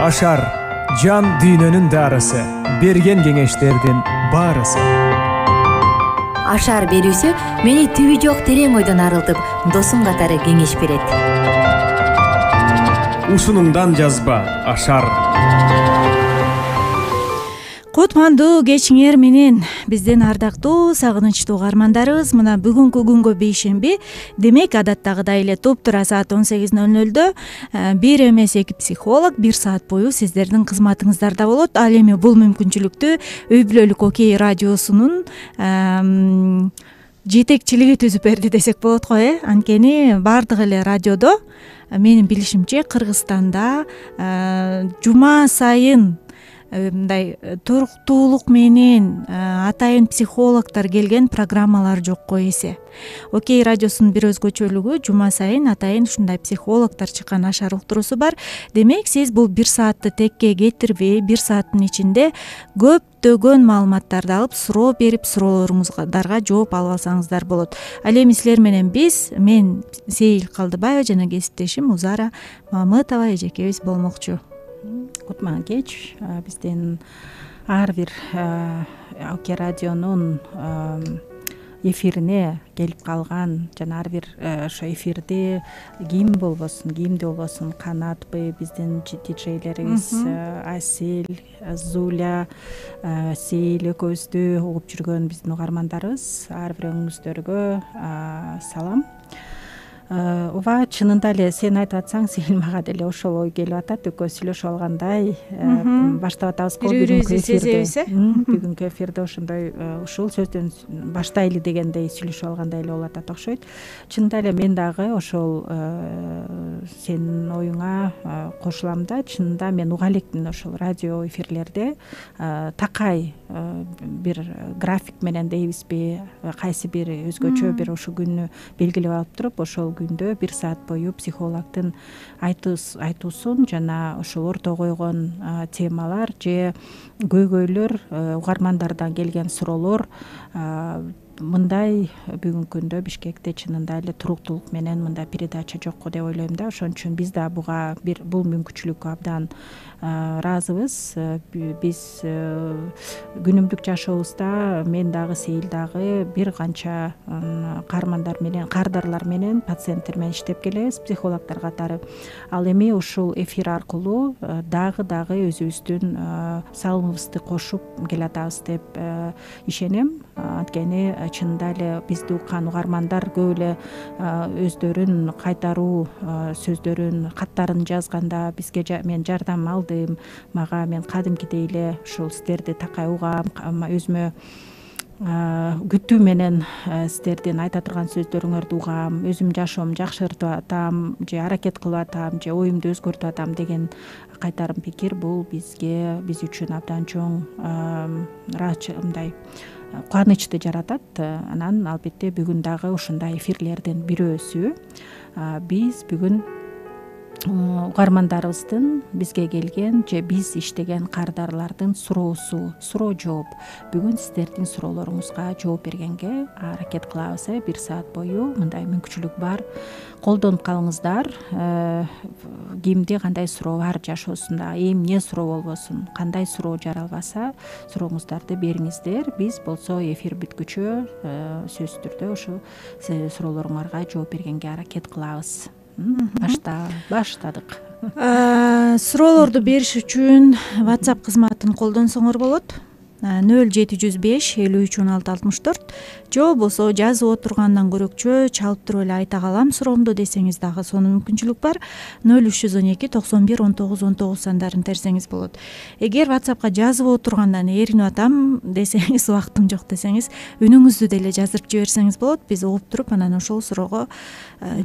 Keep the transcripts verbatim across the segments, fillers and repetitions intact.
Ашар жан дүйнөнүн дарысы, берген кеңештердин баарысы. Ашар берүүсү мени түбү жок терең ойдон арылтып, досум катары кеңеш берет. Ушунундан жазба Ашар. Кутмандуу кечиңер менен биздин ардактуу, сагынычтуу угармандарыбыз, мына бүгүнкү күнгө бейшемби, демек адаттагыдай эле туптура саат он сегиз ноль нольдо бир эмес эки психолог бир саат бою сиздердин кызматыңыздарда болот. Ал эми бул мүмкүнчүлүктү Үй бүлөлүк Окей радиосунун жетекчилиги түзүп берди десек болот го, э анткени баардык эле радиодо менин билишимче Кыргызстанда жума сайын мындай туруктуулук менен атайын психологдор келген программалар жок го эсе. Окей радиосунун бир өзгөчөлүгү жума сайын атайын ушундай психологдор чыккан Ашар уктуруусу бар. Демек сиз бул бир саатты текке кетирбей, бир сааттын ичинде көптөгөн маалыматтарды алып, суроо берип, суроолоруңуздарга жооп алып алсаңыздар болот. Ал эми силер менен биз, мен Сейил Калдыбаева жана кесиптешим Узара Мамытова эжекебиз болмокчу. Кутман кеч, биздин ар бир Окей радионун эфирине келип калган жана ар бир ошо эфирде ким болбосун, кимди болбосун, Канатпы, биздин диджейлерибиз Асель, Зуля, Сейил экөөбүздү угуп жүргөн биздин угармандарыбыз, ар бирөөңүздөргө салам. Ооба, чынында эле сен айтып атсаң, Сейил, мага деле ошол ой келип атат. Экөөбүз сүйлөшүп алгандай баштап атабыз го бүгүнкү эфирде. Бүгүнкү эфирде ошондой ушул сөздөн баштайлы дегендей сүйлөшүп алгандай эле болуп атат окшойт. Чынында эле мен дагы ошол сенин оюңа кошулам да. Чынында мен уга элекмин ошол радио эфирлерде такай бир график менен дейбизби, кайсы бир өзгөчө бир ошол күнү белгилеп алып туруп, ошол күндө бир саат бою психологдун айтуусун жана ошол орто койгон темалар же көйгөйлөр, угармандардан келген суроолор мындай бүгүнкү күндө Бишкекте чынында эле туруктуулук менен мындай передача жок го деп ойлойм да. Ошон үчүн биз да буга бир бул мүмкүнчүлүккө абдан ыраазыбыз. Биз күнүмдүк жашообузда мен дагы, Сейил дагы бир канча каармандар менен, кардарлар менен, пациенттер менен иштеп келебиз, психологдор катары. Ал эми ушул эфир аркылуу дагы дагы өзүбүздүн салымыбызды кошуп келатабыз деп ишенем. Анткени чынында эле бизди уккан угармандар көп эле өздөрүн кайтаруу сөздөрүн, каттарын жазганда бизге мен жардам алдым, мага мен кадимкидей эле ушул сиздерди такай угам, өзүмө күтүү менен сиздердин айта турган сөздөрүңөрдү угам, өзүм жашоомду жакшыртып атам же аракет кылып атам же оюмду өзгөртүп атам деген кайтарым пикир бул бизге, биз үчүн абдан чоң мындай кубанычты жаратат. Анан албетте бүгүн дагы ушундай эфирлердин бирөөсү биз бүгүн угармандарыбыздын бизге келген же биз иштеген кардарлардын суроосу, суроо жооп. Бүгүн сиздердин суроолоруңузга жооп бергенге аракет кылабыз. Бир саат бою мындай мүмкүнчүлүк бар. Колдонуп калыңыздар. Кимди кандай суроо бар жашоосунда, эмне суроо болбосун, кандай суроо жаралбаса, сурооңуздарды бериңиздер. Биз болсо эфир бүткүчө сөзсүз түрдө ошол суроолоруңарга жооп бергенге аракет кылабыз. Башта баштадык. Суроолорду бериш үчүн WhatsApp кызматын колдонсоңор болот. ноль жети жүз беш элүү үч он алты алтымыш төрт же болбосо жазып отургандан көрөкчө чалып туруп эле айта калам суроомду десеңиз дагы сонун мүмкүнчүлүк бар. ноль үч жүз он эки токсон бир он тогуз он тогуз сандарын терсеңиз болот. Эгер WhatsAppка жазып отургандан эринип атам десеңиз, убактым жок десеңиз, үнүңүздү деле жаздырып жиберсеңиз болот. Биз угуп туруп анан ошол суроого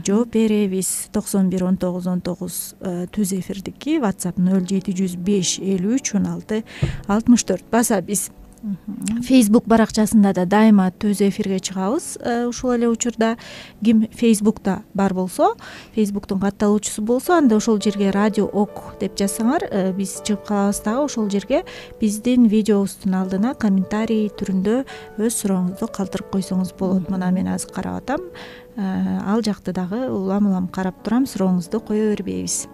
жооп беребиз. токсон бир он тогуз он тогуз түз эфирдики WhatsApp ноль жети жүз беш элүү үч он алты алтымыш төрт. Баса биз Facebook баракчасында да дайыма түз эфирге чыгабыз. Ушул эле учурда ким Facebook'та бар болсо, Facebook'тун катталуучусу болсо, анда ошол жерге радио ок деп жазсаңар, биз чыгып калабыз дагы. Ошол жерге биздин видеобуздун алдына комментарий түрүндө өз сурооңузду калтырып койсоңуз болот. Мына мен азыр карап атам. Ал жакты дагы улам улам карап турам, сурооңузду кое бербейбиз.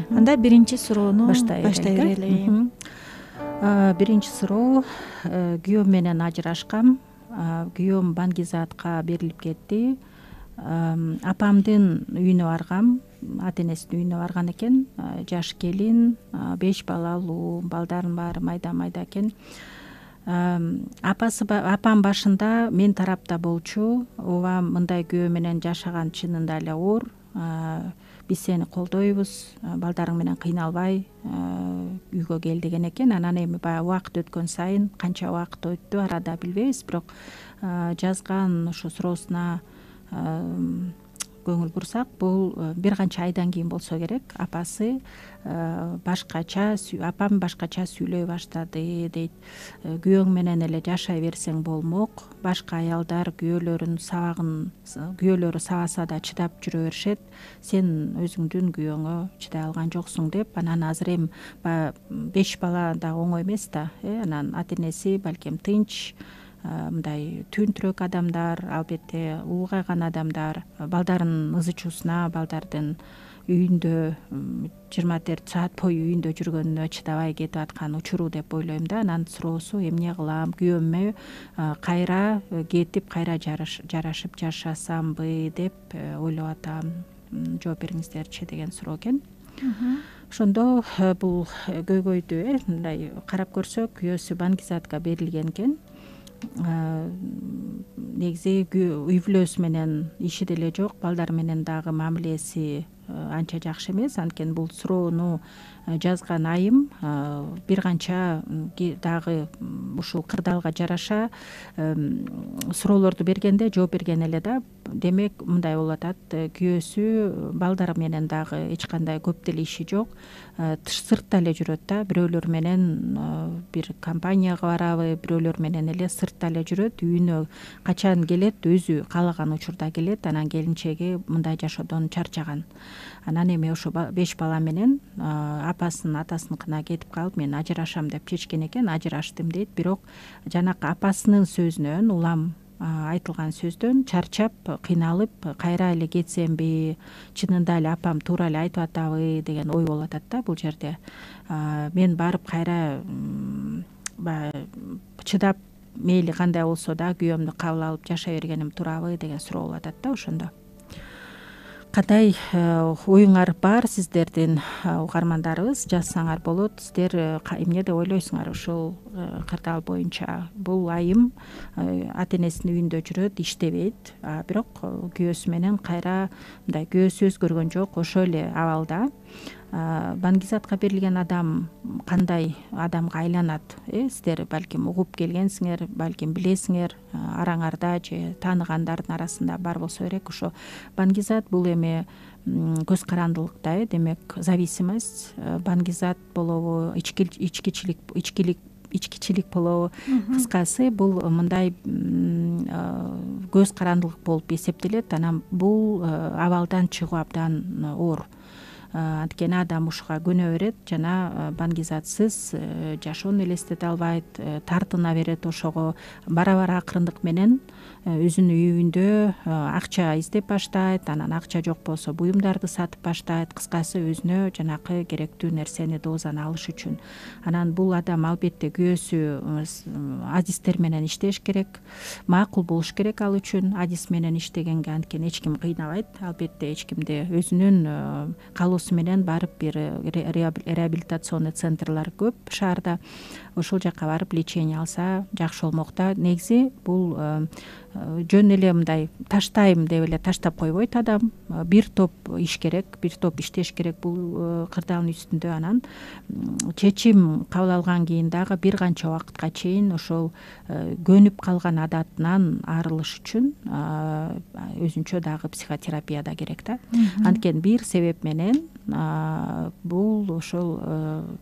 Анда биринчи суроону баштай берели. Биринчи суроо: күйөөм менен ажырашкам. Күйөөм Баңгизаатка берилип кетти. Апамдын үйүнө баргам, ата энесинин үйүнө барган экен. Жаш келин, беш балалуу, балдардын баары майда майда экен. Апасы апам башында мен тарапта болчу. Ооба, мындай күйөө менен жашаган чынында эле оор. Биз сени колдойбуз, балдарың менен кыйналбай үйгө кел деген экен. Анан эми баягы убакыт өткөн сайын, канча убакыт өттү арада билбейбиз, бирок жазган ушу суроосуна көңүл бурсак, бул бир канча айдан кийин болсо керек. Апасы башкача, апам башкача сүйлөй баштады дейт. Күйөөң менен эле жашай берсең болмок. Башка аялдар күйөөлөрүн сабагын, күйөөлөрү сабаса да чыдап жүрө беришет. Сен өзүңдүн күйөөңө чыдай алган жоксуң деп. Анан азыр эми баягы беш бала да оңой эмес да. Анан ата энеси балким тынч, мындай түнтүрөк адамдар, албетте улгайган адамдар, балдарын ызы чуусуна, балдардын үйүндө жыйырма төрт саат бою үйүндө жүргөнүнө чыдабай кетип аткан учуру деп ойлойм да. Анан суроосу: эмне кылам, күйөөмө кайра кетип, кайра жарашып жашасамбы деп ойлоп атам, жооп бериңиздерчи деген суроо экен. Ошондо бул көйгөйдү мындай карап көрсөк, күйөөсү Баңгизаатка берилген экен. Негизи үй бүлөсү менен иши деле жок, балдар менен дагы мамилеси анча жакшы эмес. Анткени бул суроону жазган айым бир канча дагы ушул кырдаалга жараша суроолорду бергенде жооп берген эле да. Демек мындай болуп атат: күйөөсү балдар менен дагы эч кандай көп деле иши жок, сыртта эле жүрөт да. Бирөөлөр менен бир компанияга барабы, бирөөлөр менен эле сыртта эле жүрөт. Үйүнө качан келет, өзү каалаган учурда келет. Анан келинчеги мындай жашоодон чарчаган. Анан эми ошо беш бала менен апасынын атасыныкына кетип калып, мен ажырашам деп чечкен экен. Ажыраштым дейт, бирок жанакы апасынын сөзүнөн, улам айтылган сөздөн чарчап, кыйналып, кайра эле кетсемби, чынында эле апам туура эле айтып атабы деген ой болуп атат да бул жерде. Мен барып кайра баягы чыдап, мейли кандай болсо да күйөөмдү кабыл алып жашай бергеним туурабы деген суроо болуп атат да. Ошондо кандай оюңар бар сиздердин, угармандарыбыз? Жазсаңар болот. Сиздер эмне деп ойлойсуңар ушул кырдаал боюнча? Бул айым ата энесинин үйүндө жүрөт, иштебейт, бирок күйөөсү менен кайра мындай күйөөсү өзгөргөн жок, ошол эле абалда. Баңгизаатка берилген адам кандай адамга айланат? Сиздер балким угуп келгенсиңер, балким билесиңер, араңарда же тааныгандардын арасында бар болсо керек. Ошо Баңгизаат бул эми көз карандылыкта, демек зависимость, Баңгизаат болобу, ичкичилик, ичкилик ичкичилик болобу, кыскасы бул мындай көз карандылык болуп эсептелет. Анан бул абалдан чыгуу абдан оор. Анткени адам ушуга көнө берет жана Баңгизаатсыз жашоону элестете албайт, тартына берет ошого. Бара-бара акырындык менен өзүнүн үйүндө акча издеп баштайт, анан акча жок болсо буюмдарды сатып баштайт. Кыскасы өзүнө жанакы керектүү нерсени доозан алыш үчүн. Анан бул адам албетте күйөөсү адистер менен иштеш керек, макул болуш керек ал үчүн. Адис менен иштегенге анткени эч ким кыйнабайт, албетте эч кимди өзүнүн калоосу менен барып бир реабилитационный центрлар көп шаарда. Ошол жака барып лечение алса жакшы болмок да. Негизи бул жөн эле мындай таштайм деп эле таштап койбойт адам. Бир топ иш керек, бир топ иштеш керек бул кырдаалдын үстүндө. Анан чечим кабыл алган кийин дагы бир канча убакытка чейин ошол көнүп калган адатынан арылыш үчүн өзүнчө дагы психотерапия да керек да. Анткени бир себеп менен бул ошол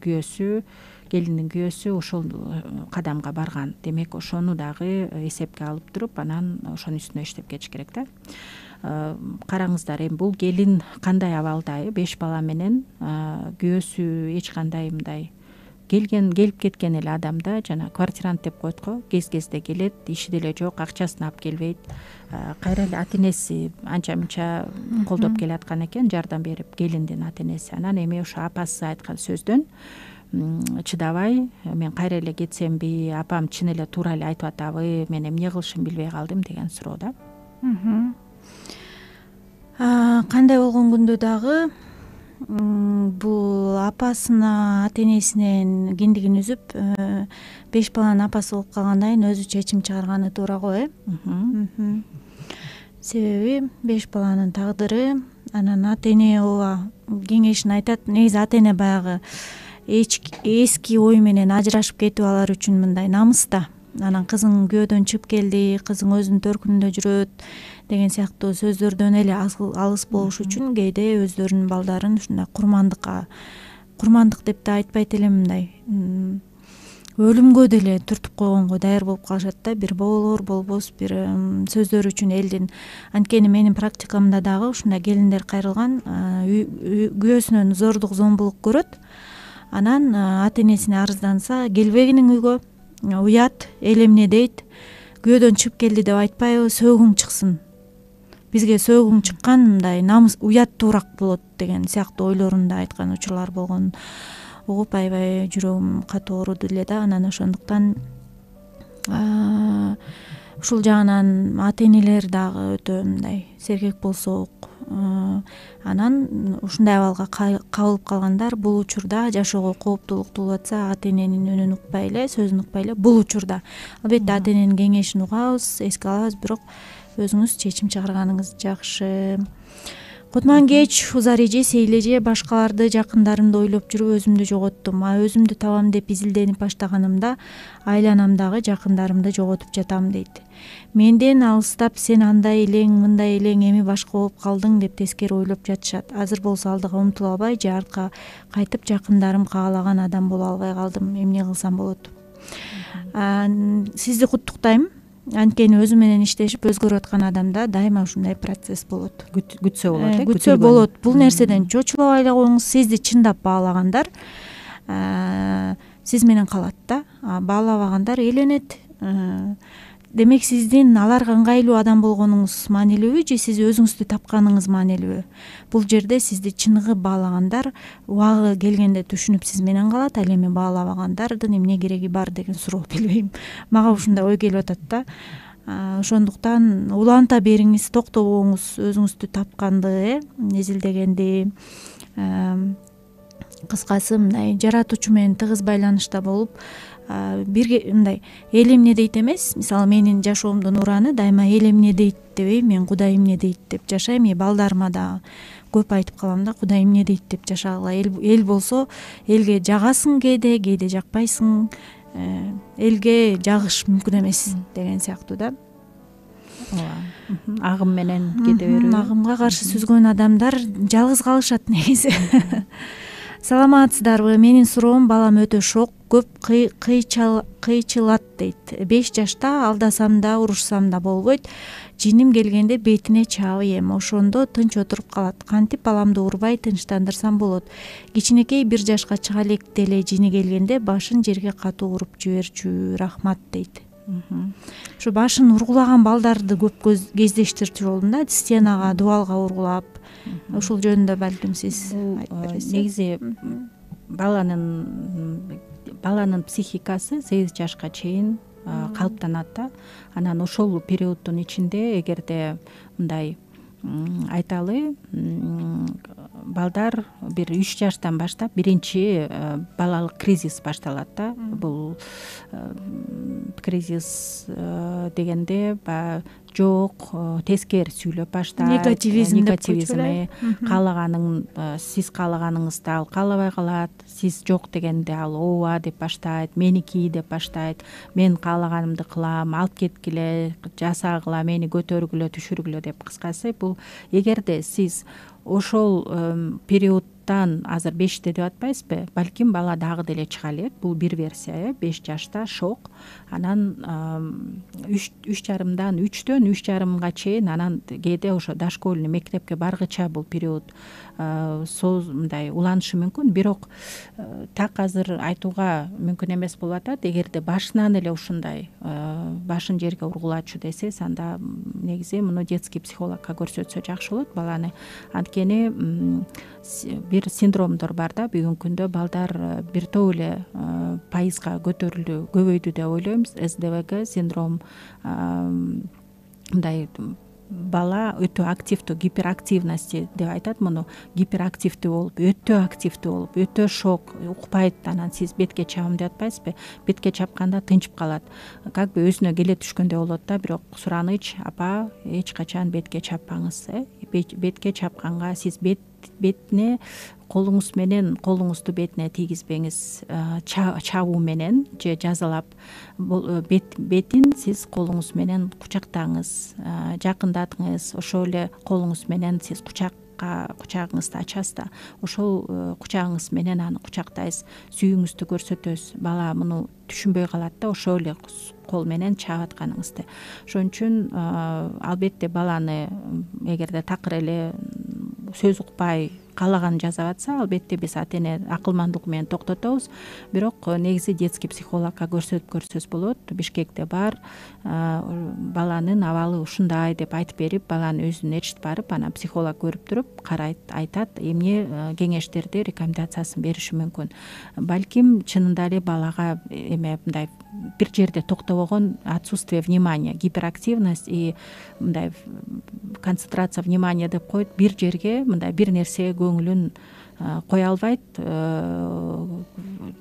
күйөөсү, келиндин күйөөсү ошол кадамга барган. Демек ошону дагы эсепке алып туруп, анан ошонун үстүнө иштеп кетиш керек да. Караңыздар, эми бул келин кандай абалда? Беш бала менен күйөөсү эч кандай мындай келген келип кеткен эле адамда жана квартирант деп коет го, кез кезде келет, иши деле жок, акчасын алып келбейт, кайра эле ата энеси анча мынча колдоп келаткан экен, жардам берип, келиндин ата энеси. Анан эми ошо апасы айткан сөздөн чыдабай, мен кайра эле кетсемби, апам чын эле туура эле айтып атабы, мен эмне кылышымды билбей калдым деген суроо да. Кандай болгон күндө дагы бул апасына, ата энесинен киндигин үзүп, беш баланын апасы болуп калгандан кийин өзү чечим чыгарганы туура го, э? Себеби беш баланын тагдыры, анан ата эне ооба кеңешин айтат. Негизи ата эне баягы эски ой менен ажырашып кетип алар үчүн мындай намыс да. Анан кызың күйөөдөн чыгып келди, кызың өзүнүн төркүнүндө жүрөт деген сыяктуу сөздөрдөн эле алыс болуш үчүн кээде өздөрүнүн балдарын ушундай курмандыкка, курмандык деп да айтпайт элем, мындай өлүмгө деле түртүп койгонго даяр болуп калышат да. Бир болор болбос бир сөздөр үчүн элдин. Анткени менин практикамда дагы ушундай келиндер кайрылган, күйөөсүнөн зордук зомбулук көрөт, анан ата энесине арызданса, келбегиниң үйгө, уят, эл эмне дейт, күйөөдөн чыгып келди деп айтпайбы, сөөгүң чыксын, бизге сөөгүң чыккан, мындай намыс, уяттуураак болот деген сыяктуу ойлорун да айткан учурлар болгон угуп, аябай жүрөгүм катуу ооруду эле да. Анан ошондуктан ушул жагынан ата энелер дагы өтө мындай сергек болсок, анан ушундай абалга кабылып калгандар бул учурда жашоого кооптуулук туулуп атса, ата эненин үнүн укпай эле, сөзүн укпай эле, бул учурда албетте ата эненин кеңешин угабыз, эске алабыз, бирок өзүңүз чечим чыгарганыңыз жакшы. Кутман кеч, узар эже, сейил эже, башкаларды, жакындарымды ойлоп жүрүп өзүмдү жоготтум. А өзүмдү табам деп изилденип баштаганымда айланамдагы жакындарымды жоготуп жатам дейт. Менден алыстап, сен андай элең, мындай элең, эми башка болуп калдың деп тескери ойлоп жатышат. Азыр болсо алдыга умтула албай, же артка кайтып жакындарым каалаган адам боло албай калдым. Эмне кылсам болот? Сизди куттуктайм. Анткени өзү менен иштешип өзгөрүп аткан адамда дайыма ушундай процесс болот. Күтсө болот, э? Күтсө болот. Бул нерседен чочулабай эле коюңуз. Сизди чындап баалагандар сиз менен калат да. Баалабагандар эленет. Демек сиздин аларга ыңгайлуу адам болгонуңуз маанилүүбү, же сиз өзүңүздү тапканыңыз маанилүүбү? Бул жерде сизди чыныгы баалагандар убагы келгенде түшүнүп сиз менен калат, ал эми баалабагандардын эмне кереги бар деген суроо, билбейм. Мага ушундай ой келип атат да. Ошондуктан уланта бериңиз, токтобоңуз, өзүңүздү тапканды, э, изилдегенди. Кыскасы мындай жаратуучу менен тыгыз байланышта болуп, бирге мындай эл эмне дейт эмес, мисалы менин жашоомдун ураны дайыма эл эмне дейт дебейм, мен Кудай эмне дейт деп жашайм. И балдарыма да көп айтып калам да, Кудай эмне дейт деп жашагыла. Эл болсо элге жагасың кээде, кээде жакпайсың, элге жагыш мүмкүн эмес деген сыяктуу да. Ооба. Агым менен кете берүү. Агымга каршы сүзгөн адамдар жалгыз калышат негизи. Саламатсыздарбы? Менин суроом, балам өтө шок, көп кыйчылат дейт. беш жашта алдасам да, урушсам да болбойт. Жиним келгенде бетине чаап эем. Ошондо тынч отуруп калат. Кантип баламды урбай тынчтандырсам болот? Кичинекей бир жашка чыга электе эле жини келгенде башын жерге катуу уруп жиберчү. Рахмат дейт. Ушу башын ургулаган балдарды көп кездештирчү болдум да. Стенага, дубалга ургулап. Ушул жөнүндө балким сиз айтып бересиз. Негизи баланын баланын психикасы сегиз жашка чейин калыптанат да. Анан ошол периоддун ичинде эгерде мындай айталы, балдар бир үч жаштан баштап биринчи балалык кризис башталат да. Бул кризис дегенде баягы жок, тескери сүйлөп баштайт, негативизм деп негативизм, каалаганың сиз каалаганыңызды ал каалабай калат, сиз жок дегенде ал ооба деп баштайт, меники деп баштайт, мен каалаганымды кылам, алып кеткиле, жасагыла, мени көтөргүлө, түшүргүлө деп. Кыскасы бул эгерде сиз ошол периодтан азыр беште деп атпайбызбы, балким бала дагы деле чыга элек. Бул бир версия, беш жашта шок, анан үч үч жарымдан үчтөн үч жарымга чейин, анан кээде ошо дошкольный мектепке баргыча бул период мындай уланышы мүмкүн. Бирок так азыр айтууга мүмкүн эмес болуп атат. Эгерде башынан эле ушундай башын жерге ургулачу десеңиз, анда негизи муну детский психологко көрсөтсө жакшы болот баланы. Анткени бир синдромдор бар да, бүгүнкү күндө балдар бир топ эле пайызга көтөрүлдү, көбөйдү деп ойлойбуз. эс дэ вэ гэ синдром мындай бала өтө активдүү, гиперактивности деп айтат муну. Гиперактивдүү болуп, өтө активдүү болуп, өтө шок, укпайт. Анан сиз бетке чабам деп атпайсызбы? Бетке чапканда тынчып калат. Как бы өзүнө келе түшкөндөй болот да, бирок сураныч: апа, эч качан бетке чаппаңыз. Бетке чапканга сиз бет бетине колуңуз менен колуңузду бетине тийгизбеңиз. Чабуу менен же жазалап бет бетин сиз колуңуз менен кучактаңыз, жакындатыңыз. Ошол эле колуңуз менен сиз кучакка кучагыңызды ачасыз да, ошол кучагыңыз менен аны кучактайсыз, сүйүүңүздү көрсөтөсүз. Бала муну түшүнбөй калат да, ошол эле кол менен чаап атканыңызды. Ошон үчүн албетте баланы эгерде такыр эле сөз укпай каалаганын жасап атса, албетте биз ата эне акылмандуулук менен токтотобуз. Бирок негизи детский психологко көрсөтүп көрсөз болот. Бишкекте бар, баланын абалы ушундай деп айтып берип, баланын өзүн эчтип барып, анан психолог көрүп туруп карайт, айтат, эмне кеңештерди, рекомендациясын бериши мүмкүн. Балким чынында эле балага эме мындай бир жерде токтобогон отсутствие внимания, гиперактивность и мындай концентрация внимания деп коет. Бир жерге мындай бир нерсеге көңүлүн кое албайт,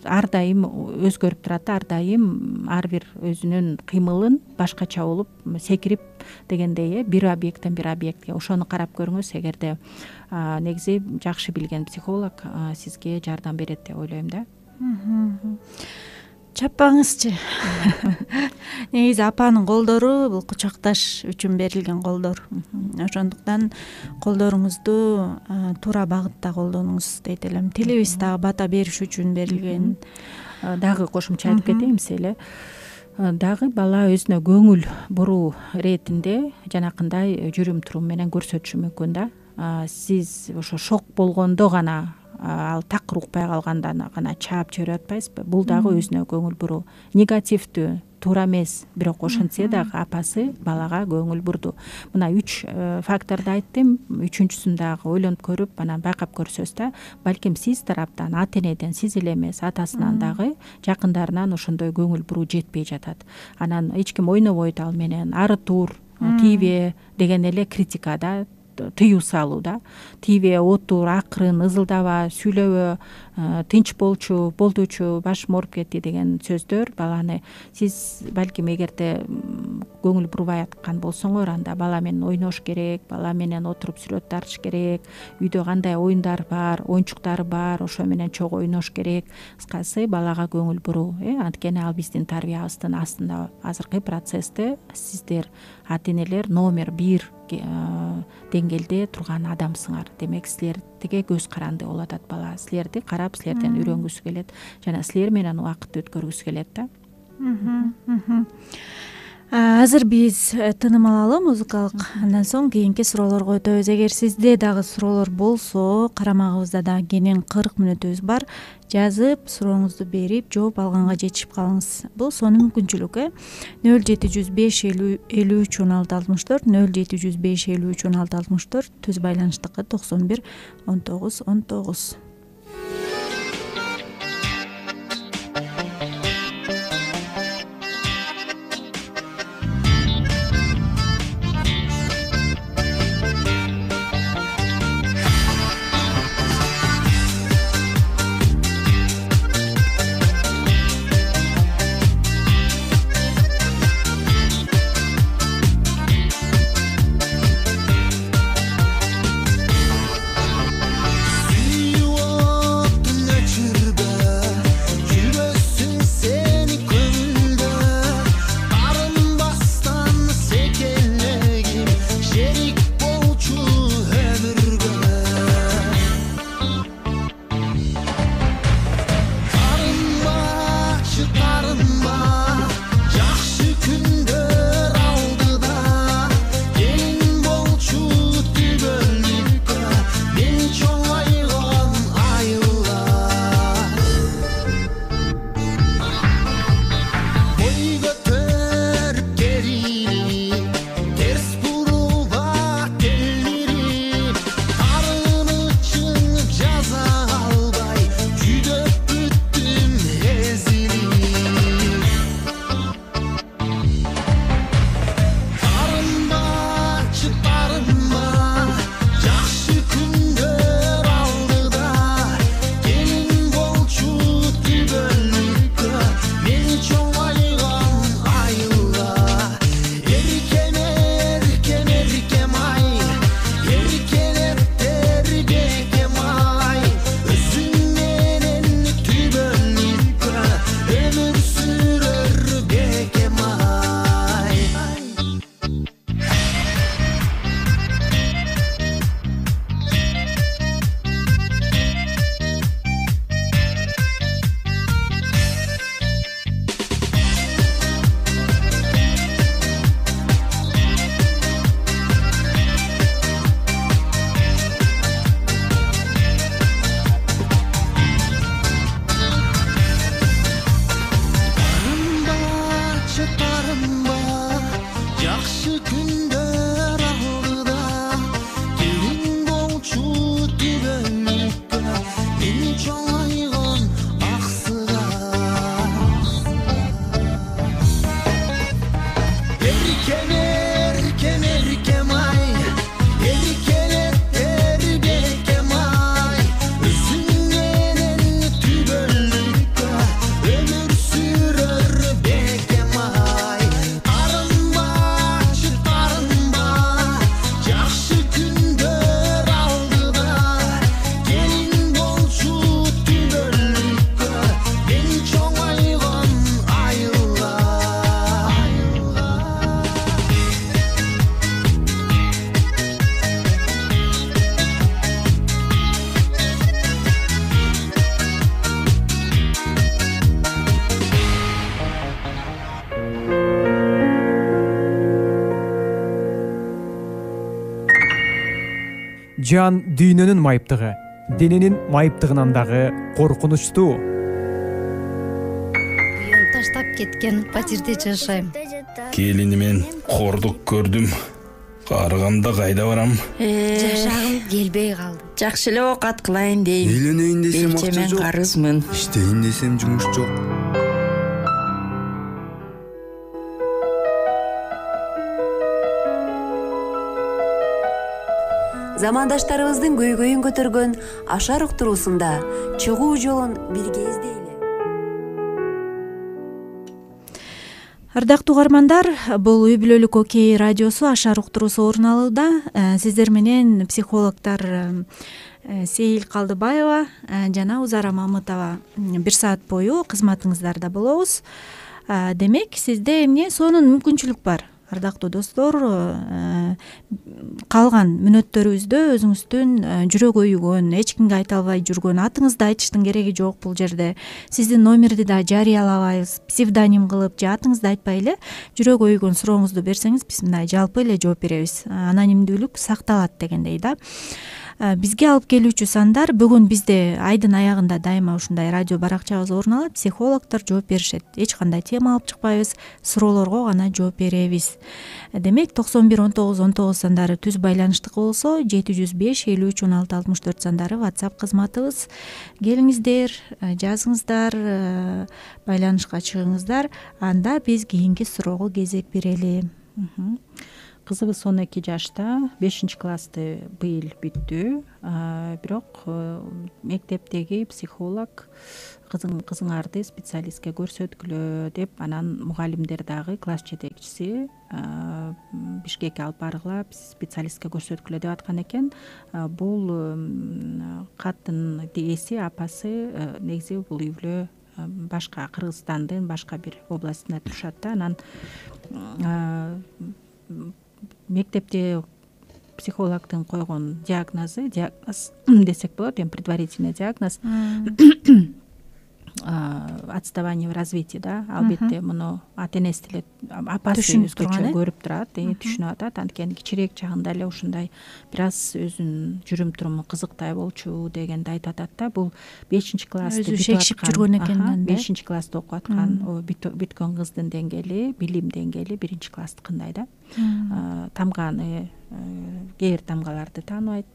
ар дайым өзгөрүп турат, ар дайым ар бир өзүнүн кыймылын башкача болуп секирип дегендей, бир объекттен бир объектке. Ошону карап көрүңүз, эгерде негизи жакшы билген психолог сизге жардам берет деп ойлойм да. Чаппаңызчы. Негизи апанын колдору бул кучакташ үчүн берилген колдор. Ошондуктан колдоруңузду туура багытта колдонуңуз дейт элем. Тилибиз дагы бата бериш үчүн берилген. Дагы кошумча айтып кетейин эле. Дагы бала өзүнө көңүл буруу иретинде жанакындай жүрүм турум менен көрсөтүшү мүмкүн да. Сиз ошо шок болгондо гана, ал такыр укпай калганда гана чаап жиберип атпайсызбы? Бул дагы өзүнө көңүл буруу. Негативдүү, туура эмес, бирок ошентсе дагы апасы балага көңүл бурду. Мына үч факторду айттым. Үчүнчүсүн дагы ойлонуп көрүп, анан байкап көрсөз да, балким сиз тараптан, ата энеден, сиз эле эмес, атасынан дагы, жакындарынан ошондой көңүл буруу жетпей жатат. Анан эч ким ойнобойт ал менен, ары тур, тийбе деген эле критика да, тыюу салуу да. Тийбе, отур, акырын, ызылдаба, сүйлөбө, тынч болчу, болдучу, башым ооруп кетти деген сөздөр баланы, сиз балким эгерде көңүл бурбай аткан болсоңор, анда бала менен ойнош керек, бала менен отуруп сүрөт тартыш керек, үйдө кандай оюндар бар, оюнчуктары бар, ошо менен чогуу ойнош керек. Кыскасы балага көңүл буруу. Анткени ал биздин тарбиябыздын астында азыркы процессте сиздер ата энелер номер бир деңгээлде турган адамсыңар. Демек силердиге көз каранды болуп атат бала. Силерди карап, силерден үйрөнгүсү келет жана силер менен убакыт өткөргүсү келет да. Азыр биз тыным алалы музыкалык, андан соң кийинки суроолорго өтөбүз. Эгер сизде дагы суроолор болсо, карамагыбызда дагы кенен кырк мүнөтүбүз бар. Жазып, сурооңузду берип, жооп алганга жетишип калыңыз. Бул сонун мүмкүнчүлүк, э? нөл жети жүз беш элүү үч он алты алтымыш төрт, нөл жети жүз беш элүү үч он алты алтымыш төрт, түз байланыштыкы токсон бир он тогуз он тогуз. You жан дүйнөнүн майыптыгы дененин майыптыгынан дагы коркунучтуу. Уюм таштап кеткен патирде жашайм. Келинимен кордук көрдүм. Карыганда кайда барам? Жашагым келбей калды. Жакшы эле оокат кылайын дейм. Үйлөнөйүн десем акча Белчемен жок. карызмын. Иштейин десем жумуш жок. Замандаштарыбыздын көйгөйүн көтөргөн Ашар уктуруусунда чыгуу жолун бирге издейли. Ардактуу угармандар, бул үй бүлөлүк окей радиосу Ашар уктуруусу орун алууда. Сиздер менен психологдор Сейил Калдыбаева жана Узара Мамытова бир саат бою кызматыңыздарда болобуз. Демек, сизде эмне сонун мүмкүнчүлүк бар? Ардактуу достор, калган мүнөттөрүбүздө өзүңүздүн жүрөк өйүгөн, эч кимге айта албай жүргөн, атыңызды айтыштын кереги жок бул жерде. Сиздин номерди да жарыялабайбыз, псевдоним кылып же атыңызды айтпай эле жүрөк өйүгөн сурооңузду берсеңиз, биз мындай жалпы эле жооп беребиз. Анонимдүүлүк сакталат дегендей да. Бизге алып келүүчү сандар бүгүн бизде айдын аягында дайыма ушундай радио баракчабыз орун алат. Психологдор жооп беришет. Эч кандай тема алып чыкпайбыз, суроолорго гана жооп беребиз. Демек, токсон бир он тогуз он тогуз сандары түз байланыштык болсо, жети жүз беш элүү үч он алты алтымыш төрт сандары WhatsApp кызматыбыз. Келиңиздер, жазыңыздар, байланышка чыгыңыздар. Анда биз кийинки суроого кезек берели. Кызыбыз он эки жашта, бешинчи классты быйыл бүттү. Бирок мектептеги психолог кызың кызыңарды специалистке көрсөткүлө деп, анан мугалимдер дагы класс жетекчиси Бишкекке алып баргыла, специалистке көрсөткүлө деп аткан экен. Бул каттын ээси, апасы негизи бул үй бүлө башка Кыргызстандын башка бир областында турушат да. Анан мектепте психологдун койгон диагнозу, диагноз десек болот, эми предварительный диагноз отставание в развитии да. Албетте муну ата-энеси деле, апасы өзгөчө көрүп турат, түшүнүп атат. Анткени кичирээк чагында эле ушундай бир аз өзүнүн жүрүм туруму кызыктай болчу дегенди айтып атат да. Бул бешинчи классты өзү шекшип жүргөн экен да. бешинчи классты окуп аткан бүткөн кыздын деңгээли, билим деңгээли биринчи класстыкындай да. Тамганы, кээ бир тамгаларды тааныбайт.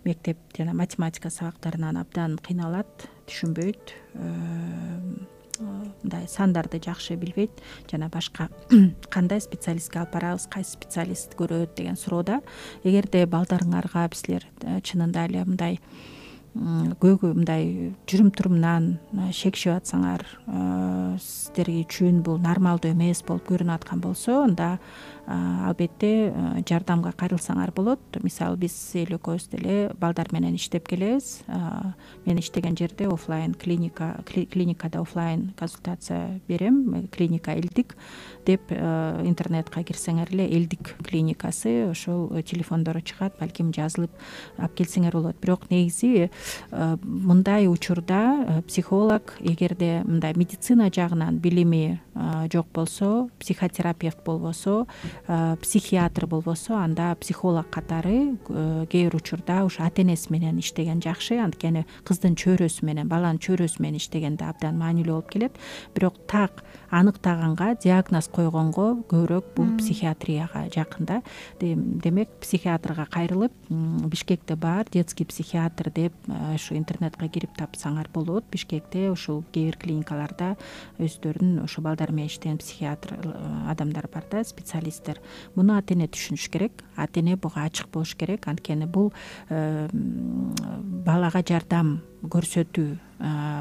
Мектеп жана математика сабактарынан абдан кыйналат, түшүнбөйт, мындай сандарды жакшы билбейт жана башка кандай специалистке алып барабыз, кайсы специалист көрөт деген суроодо. Эгерде балдарыңарга силер чынында эле мындай көйгөй, мындай жүрүм турумунан шекшип атсаңар, сиздер үчүн бул нормалдуу эмес болуп көрүнүп аткан болсо, анда албетте жардамга кайрылсаңар болот. Мисалы, биз эл экөөбүз деле балдар менен иштеп келебиз. Мен иштеген жерде офлайн клиника, клиникада офлайн консультация берем. Клиника Элдик деп интернетке кирсеңер эле Элдик клиникасы, ошол телефондору чыгат, балким жазылып алып келсеңер болот. Бирок негизи мындай учурда психолог, эгерде мындай медицина жагынан билими жок болсо, психотерапевт болбосо, психиатр болбосо, анда психолог катары кээ бир учурда ушу ата-энеси менен иштеген жакшы. Анткени кыздын чөйрөсү менен, баланын чөйрөсү менен иштегенде абдан маанилүү болуп келет. Бирок так аныктаганга, диагноз койгонго көбүрөөк бул психиатрияга жакын да. Демек, психиатрга кайрылып, Бишкекте бар детский психиатр деп ушу интернетке кирип тапсаңар болот. Бишкекте ушул кээ бир клиникаларда өздөрүнүн ушу балдар менен иштеген психиатр адамдар бар да, специалисттер. Муну ата-эне түшүнүш керек, ата-эне буга ачык болуш керек. Анткени бул балага жардам көрсөтүү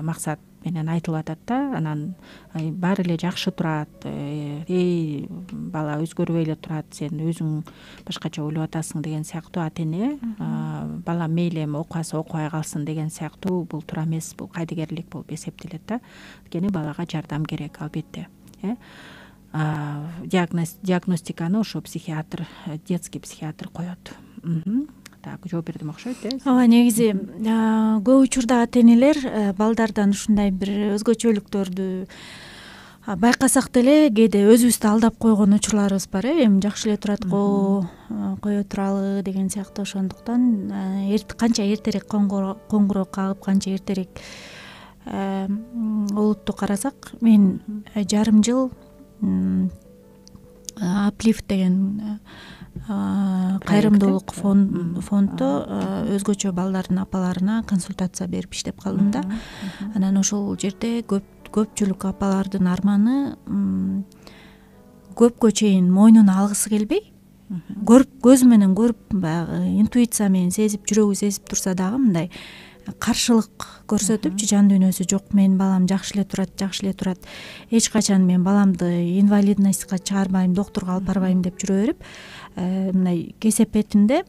максат менен айтылып атат да. Анан баары эле жакшы турат, эй бала өзгөрбөй эле турат, сен өзүң башкача ойлоп атасың деген сыяктуу ата-эне, бала мейли эми окубаса окубай калсын деген сыяктуу бул туура эмес, бул кайдыгерлик болуп эсептелет да. Анткени балага жардам керек албетте. Диагноз, диагностиканы ошо психиатр, детский психиатр коет. Так, жооп бердим окшойт э. Ооба, негизи көп учурда ата-энелер балдардан ушундай бир өзгөчөлүктөрдү байкасак деле кээде өзүбүздү алдап койгон учурларыбыз бар э эми жакшы эле турат го, кое туралы деген сыяктуу. Ошондуктан канча эртерээк коңгуроо кагып, канча эртерээк олутту карасак, мен жарым жыл Аплифт деген кайрымдуулук фонддо өзгөчө балдардын апаларына консультация берип иштеп калдым да. Анан ошол жерде көп көпчүлүк апалардын арманы көпкө чейин мойнуна алгысы келбей, көрүп көзү менен көрүп, баягы интуиция менен сезип, жүрөгү сезип турса дагы мындай каршылык көрсөтүпчү, жан дүйнөсү жок, менин балам жакшы эле турат, жакшы эле турат, эч качан мен баламды инвалидностька чыгарбайм, доктурга алып барбайм деп жүрө берип, мындай кесепетинде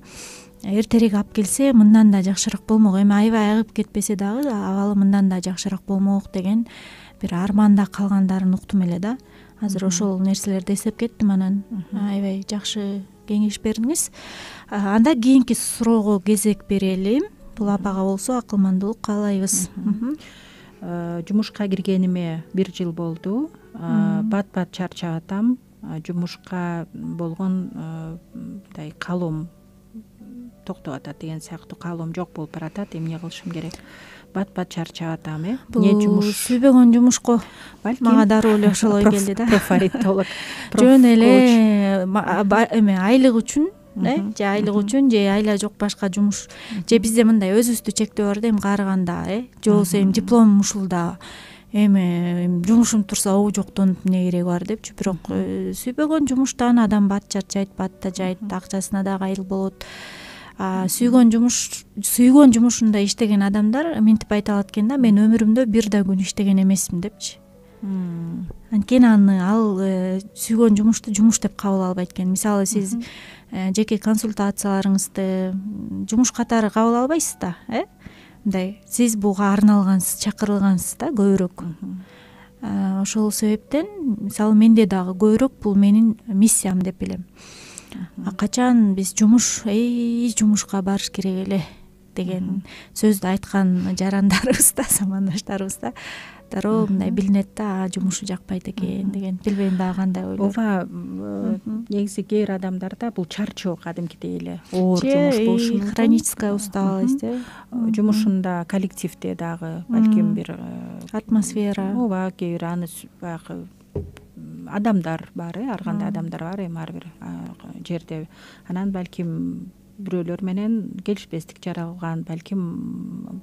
эртерээк алып келсе мындан да жакшыраак болмок, эми аябай айыгып кетпесе дагы абалы мындан да жакшыраак болмок деген бир арманда калгандарын уктум эле да. Азыр ошол нерселерди эстеп кеттим. Анан аябай жакшы кеңеш бердиңиз. Анда кийинки суроого кезек берели. Бул апага болсо акылмандуулук каалайбыз. Жумушка киргениме бир жыл болду. Бат-бат чарчап атам. Жумушка болгон мындай каалоом токтоп атат деген сыяктуу, каалоом жок болуп баратат. Эмне кылышым керек? Бат-бат чарчап атам э. Не жумуш? Сүйбөгөн жумушко мага дароо эле ошолой келди да. Профаритолог. Жөн эле эме айлык үчүн, э, же айлык үчүн, же айла жок башка жумуш, же бизде мындай өзүбүздү чектөө бар да, эми каарыганда, э, же болбосо эми дипломум ушулда, эми жумушум турса обу жоктон эмне кереги бар депчи. Бирок сүйбөгөн жумуштан адам бат чарчайт, бат да жайт, акчасына да кайыл болот. Сүйгөн жумуш, сүйгөн жумушунда иштеген адамдар минтип айта алат экен да, мен өмүрүмдө бир да күн иштеген эмесмин депчи. Анткени аны ал сүйгөн жумушту жумуш деп кабыл албайт экен. Мисалы сиз жеке консультацияларыңызды жумуш катары кабыл албайсыз да, э? Мындай сиз буга арналгансыз, чакырылгансыз да көбүрөөк. Ошол себептен мисалы менде дагы көбүрөөк бул менин миссиям деп билем. А качан биз жумуш, эй, жумушка барыш керек эле деген сөздү айткан жарандарыбыз да, замандаштарыбыз да дароо мындай билинет да, жумушу жакпайт экен деген. Билбейм дагы кандай ойлор. Ооба, негизи кээ бир адамдарда бул чарчоо кадимкидей эле оор жумуш болушу мүмкүн. Хроническая усталость, э. Жумушунда коллективде дагы балким бир атмосфера. Ооба, кээ бир аны баягы адамдар бар, э, ар кандай адамдар бар эми ар бир жерде. Анан балким бирөөлөр менен келишпестик жаралган, балким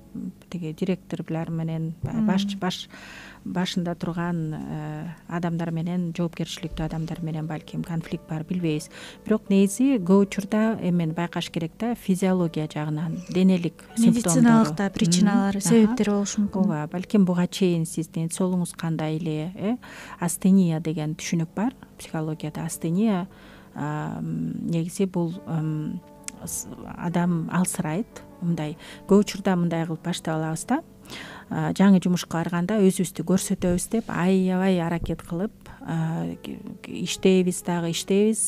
тиги директорлор менен баш баш башында турган адамдар менен, жоопкерчиликтүү адамдар менен балким конфликт бар, билбейбиз. Бирок негизи көп учурда эмени байкаш керек да, физиология жагынан, денелик симптомдору, медициналык да причиналары, себептери болушу мүмкүн. Ооба, балким буга чейин сиздин соолугуңуз кандай эле, э? Астения деген түшүнүк бар психологияда. Астения негизи бул адам алсырайт, мындай көп учурда мындай кылып баштап алабыз да. Жаңы жумушка барганда өзүбүздү көрсөтөбүз деп аябай аракет кылып иштейбиз, дагы иштейбиз,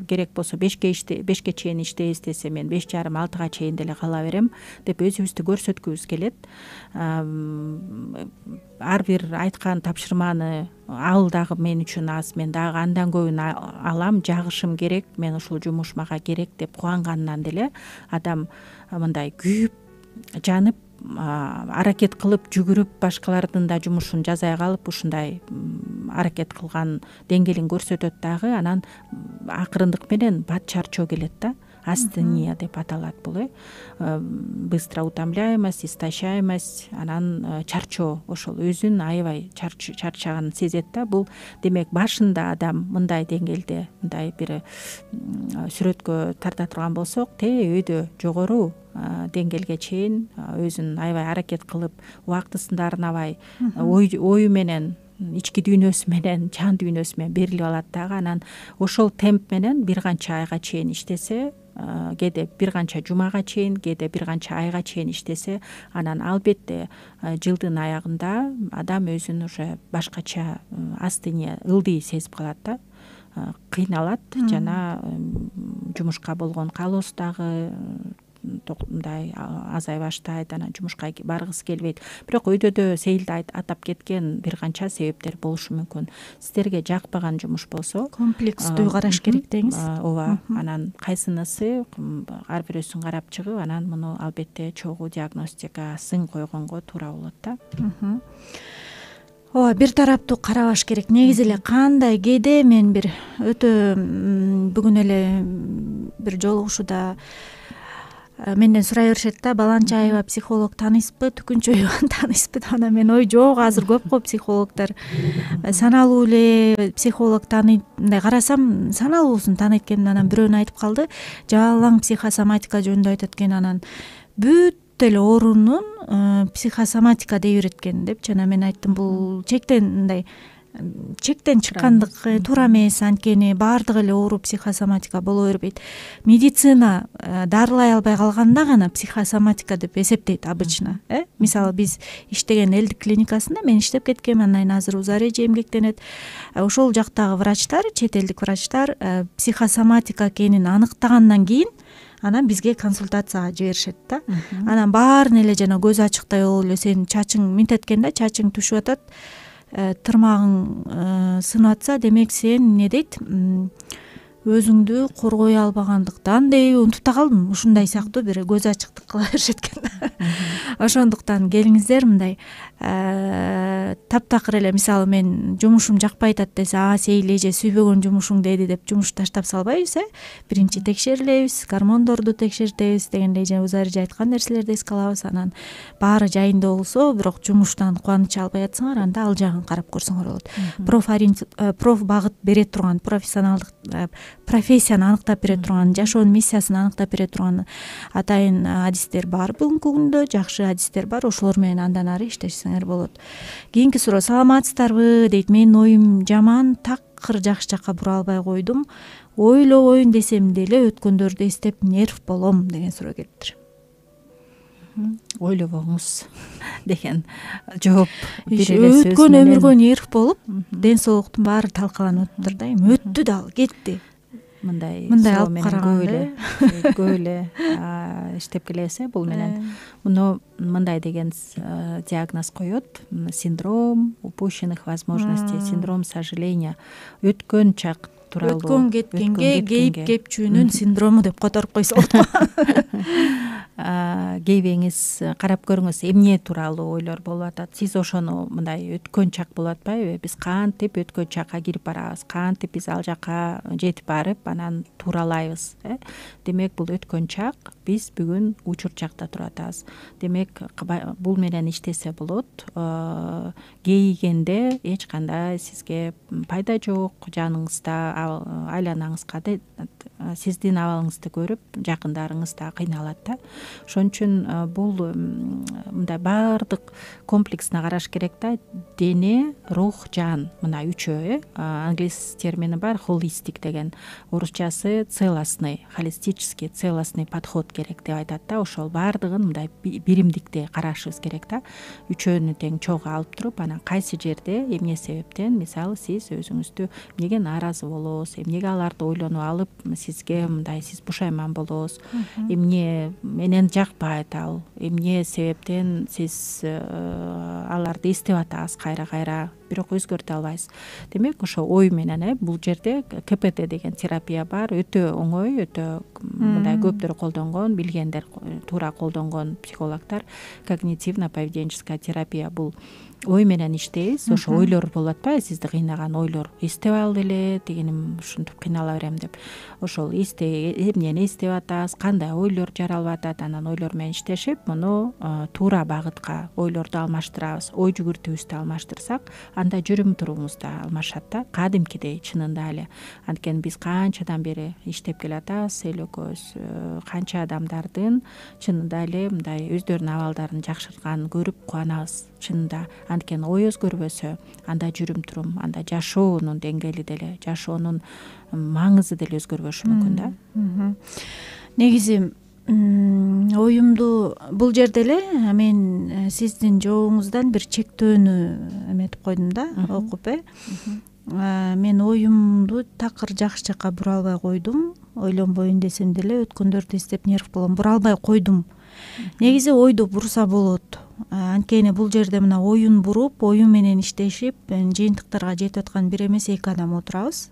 керек болсо бешке бешке чейин иштейбиз десе, мен беш жарым алтыга чейин деле кала берем деп өзүбүздү көрсөткүбүз келет. Ар бир айткан тапшырманы ал дагы мен үчүн аз, мен дагы андан көбүн алам, жагышым керек, мен ушул жумуш мага керек деп кубангандан деле адам мындай күйүп, жанып, аракет кылып, жүгүрүп, башкалардын да жумушун жазай калып, ушундай аракет кылган деңгээлин көрсөтөт дагы. Анан акырындык менен бат чарчоо келет да. Астения деп аталат бул, э. Быстро утомляемость, истощаемость, анан чарчоо, ошол өзүн аябай чарчаганын сезет да. Бул демек башында адам мындай деңгээлде, мындай бир сүрөткө тарта турган болсок, те өйдө жогору деңгээлге чейин өзүн аябай аракет кылып, убактысын арнабай, ою менен, ички дүйнөсү менен, жан дүйнөсү менен берилип алат дагы. Анан ошол темп менен бир канча айга чейин иштесе, кээде бир канча жумага чейин, кээде бир канча айга чейин иштесе, анан албетте жылдын аягында адам өзүн уже башкача астения, ылдый сезип калат да, кыйналат, жана жумушка болгон каалоосу дагы мындай азай баштайт, анан жумушка баргысы келбейт. Бирок өйдөдө Сейилде атап кеткен бир канча себептер болушу мүмкүн. Сиздерге жакпаган жумуш болсо комплекстүү караш керек деңиз. Ооба, анан кайсынысы ар бирөөсүн карап чыгып, анан муну албетте чогуу диагностикасын койгонго туура болот да. Ооба, бир тараптуу карабаш керек. Негизи эле кандай кээде мен бир өтө бүгүн эле бир жолугушууда менден сурай беришет да, Баланчаева психолог тааныйсызбы, Түкүнчөеваны тааныйсызбы деп. Анан мен ой жок, азыр көп го психологдор, саналуу эле психолог тааныйт. Мындай карасам саналуусун тааныйт экен. Анан бирөөнү айтып калды, жалаң психосоматика жөнүндө айтат экен. Анан бүт эле оорунун психосоматика дей берет экен депчи. Анан мен айттым, бул чектен мындай чектен чыккандык туура эмес, анткени баардык эле оору психосоматика боло бербейт. Медицина дарылай албай калганда гана психосоматика деп эсептейт обычно. Э мисалы биз иштеген элдик клиникасында мен иштеп кеткем, андан кийин азыр Узареже эмгектенет. Ошол жактагы врачтар, чет элдик врачтар психосоматика экенин аныктагандан кийин анан бизге консультацияга жиберишет да. Анан баарын эле жана көз ачыктай болуп эле сенин чачың минтет экен да, чачың түшүп атат, тырмагың сынып атса, демек сен эмне дейт, өзүңдү коргой албагандыктан дейби, унутуп да калдым. Ушундай сыяктуу бир көз ачыктык кыла беришет экен. Ошондуктан келиңиздер мындай таптакыр эле, мисалы мен жумушум жакпай атат десе, а Сейил эже сүйбөгөн жумушуң деди деп жумушту таштап салбайбыз, э биринчи текшерилебиз, гормондорду текшертебиз дегендей, жана Узареже айткан нерселерди эске алабыз. Анан баары жайында болсо, бирок жумуштан кубаныча албай атсаңар, анда ал жагын карап көрсөңөр болот. Проф багыт бере турган, профессионалдык профессияны аныктап бере турган, жашоонун миссиясын аныктап бере турган атайын адистер бар бүгүнкү күндө, жакшы адистер бар. Ошолор менен андан ары иштешсеңер болот. Кийинки суроо, саламатсыздарбы дейт. Менин оюм жаман, такыр жакшы жакка бура албай койдум. Ойлобойн десем деле өткөндөрдү эстеп нерв болом деген суроо келиптир. Ойлобоңуз деген жооп бере элесиз. Өткөн өмүргө нерв болуп, ден соолуктун баары талкаланып өттүр да. Эми өттү дагы, кетти. Мындай мындай алып алып караганда көп эле иштеп келебиз, бул менен. Муну мындай деген диагноз коет: синдром упущенных возможностей, синдром сожаления. Өткөн чак тууралуу, өткөн кеткенге кейип кепчүүнүн синдрому деп которуп койсо болот. Кейбеңиз карап көрүңүз, эмне тууралуу ойлор болуп атат. Сиз ошону мындай өткөн чак болуп атпайбы? Биз кантип өткөн чакка кирип барабыз, кантип биз ал жакка жетип барып, анан тууралайбыз, э? Демек бул өткөн чак, биз бүгүн учур чакта туруп атабыз. Демек бул менен иштесе болот. Кейигенде эч кандай сизге пайда жок, жаныңызда, айланаңызга сиздин абалыңызды көрүп жакындарыңыз да кыйналат да. Ошон үчүн бул мындай баардык комплексно караш керек да. Дене, рух, жан, мына үчөө, э? Англис термини бар, холистик деген. Орусчасы целостный, холистический, целостный подход керек деп айтат да. Ошол баардыгын мындай биримдикте карашыбыз керек да. Үчөөнү тең чогуу алып туруп, анан кайсы жерде эмне себептен, мисалы сиз өзүңүздү эмнеге нааразы болосуз, эмнеге аларды ойлонуп алып, сизге мындай сиз бушайман болосуз, эмне менен жакпайт ал, эмне себептен сиз аларды эстеп атасыз кайра-кайра, бирок өзгөртө албайсыз. Демек ошо ой менен, э, бул жерде ка пэ тэ деген терапия бар, өтө оңой, өтө мындай көптөр колдонгон, билгендер туура колдонгон психологдор. Когнитивно-поведенческая терапия бул ой менен иштейбиз. Ошо ойлор болуп атпайбы, сизди кыйнаган ойлор. Эстеп алды эле, дегеним ушинтип кыйнала берем деп. Ошол эсте эмнени эстеп атабыз, кандай ойлор жаралып атат, анан ойлор менен иштешип, муну туура багытка ойлорду алмаштырабыз. Ой жүгүртүүбүздү алмаштырсак, анда жүрүм турумуз да алмашат да, кадимкидей чынында эле. Анткени биз канчадан бери иштеп келатабыз, эл экөөбүз канча адамдардын чынында эле мындай өздөрүнүн абалдарын жакшыртканын көрүп кубанабыз чынында. Анткени ой өзгөрбөсө, анда жүрүм турум, анда жашоонун деңгээли деле, жашоонун маңызы деле өзгөрбөшү мүмкүн да. Негизи оюмду бул жерде эле мен сиздин жообуңуздан бир чектөөнү эметип койдум да, окуп, э. мен оюмду такыр жакшы жака бура албай койдум. Ойлонбойн десем деле өткөндөрдү эстеп нерв болом. Бура албай койдум. Негизи ойду бурса болот. Анткени бул жерде мына оюн буруп, оюн менен иштешип, жыйынтыктарга жетип аткан бир эмес эки адам отурабыз.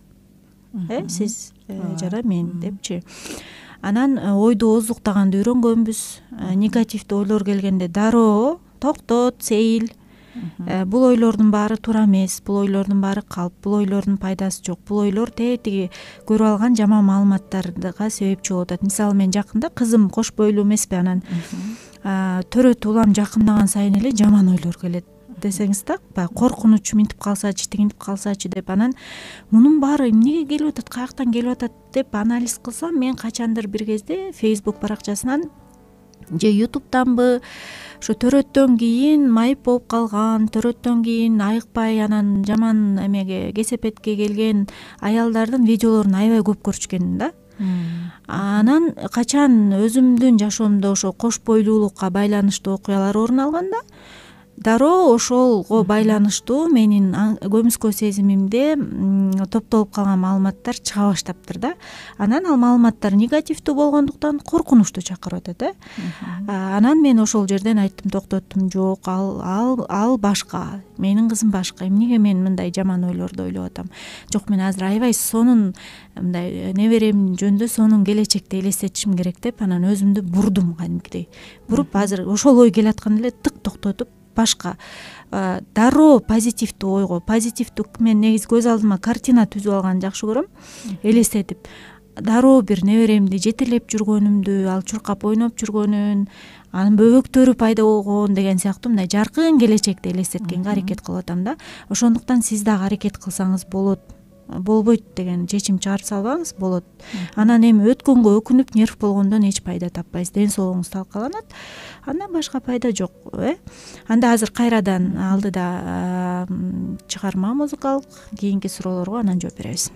Э, сиз жана мен депчи. Анан ойду оздуктаганды үйрөнгөнбүз. Негативдүү ойлор келгенде дароо токтот, сейил. Бул ойлордун баары туура эмес, бул ойлордун баары калп, бул ойлордун пайдасы жок. Бул ойлор тетиги көрүп алган жаман маалыматтарга себепчи болуп атат. Мисалы мен жакында кызым кош бойлуу эмеспи, анан төрөтүп улам жакындаган сайын эле жаман ойлор келет десеңиз так, баягы коркунуч минтип калсачы, тигинтип калсачы деп. Анан мунун баары эмнеге келип атат, каяктан келип атат деп анализ кылсам, мен качандыр бир кезде Facebook баракчасынан же ютубтанбы ошо төрөттөн кийин майып болуп калган, төрөттөн кийин айыкпай анан жаман эмеге кесепетке келген аялдардын видеолорун аябай көп көрчүкенмин да. Анан качан өзүмдүн жашоомдо ошо кош бойлуулукка байланыштуу окуялар орун алганда, дароо ошолго байланыштуу менин көмүскө сезимимде топтолуп калган маалыматтар чыга баштаптыр да. Анан ал маалыматтар негативдүү болгондуктан коркунучту чакырып атат, э. Анан мен ошол жерден айттым, токтоттум, жок, ал ал ал башка, менин кызым башка. Эмнеге мен мындай жаман ойлорду ойлоп атам? Жок, мен азыр аябай сонун мындай неберем жөнүндө, сонун келечекти элестетишим керек деп, анан өзүмдү бурдум кадимкидей. Буруп азыр ошол ой келатканда эле тык токтотуп, башка дароо позитивдүү ойго, позитивдүү, мен негизи көз алдыма картина түзүп алганды жакшы көрөм, элестетип. Дароо бир неберемди жетелеп жүргөнүмдү, ал чуркап ойноп жүргөнүн, анын бөбөктөрү пайда болгон деген сыяктуу мындай жаркын келечекти элестеткенге аракет кылып атам да. Ошондуктан сиз дагы аракет кылсаңыз болот, болбойт деген чечим чыгарып салбаңыз, болот. Анан эми өткөнгө өкүнүп нерв болгондон эч пайда таппайсыз, ден соолугуңуз талкаланат. Андан башка пайда жок, э. Анда азыр кайрадан алдыда чыгарма музыкалык, кийинки суроолорго анан жооп беребиз.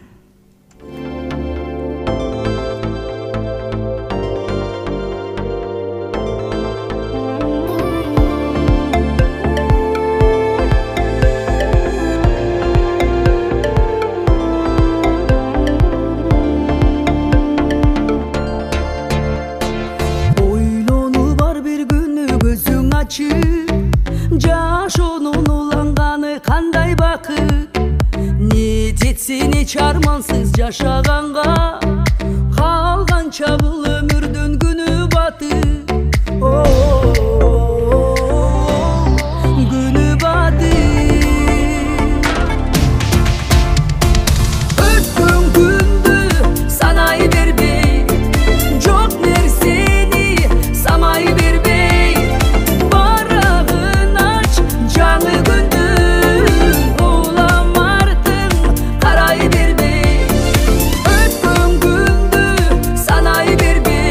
Жашоонун уланганы кандай бакыт, не жетсин эч армансыз жашаганга, калганча бул өмүрдүн күнү батыт, күнү батыт. Өткөн күндү санай бербей, жок нерсени самай бербей, бербей, өткөн күндү санай бербей.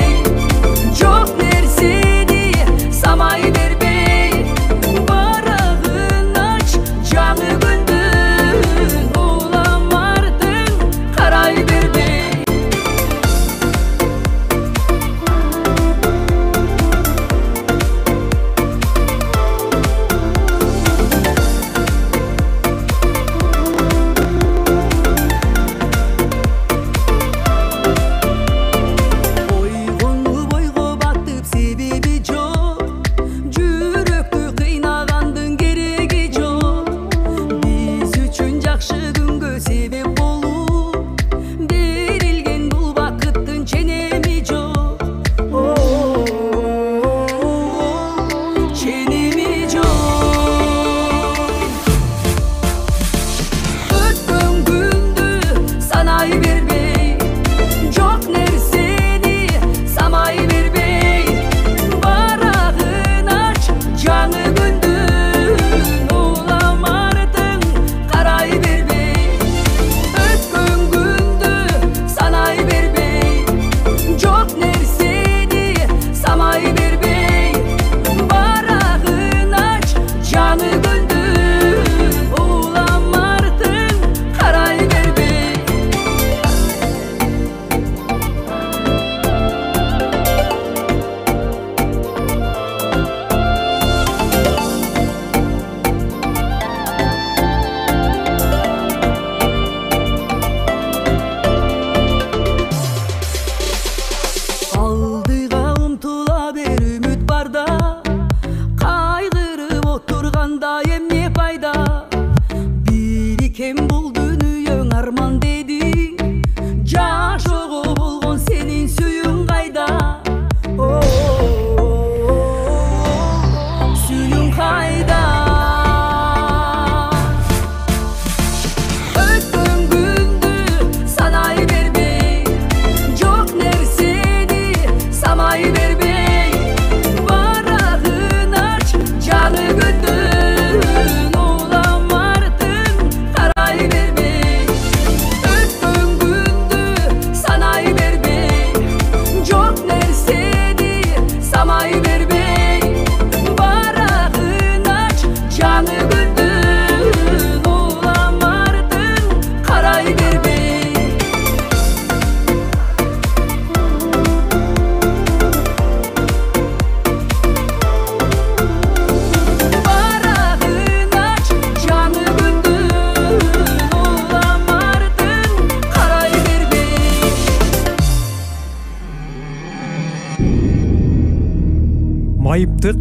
майыптык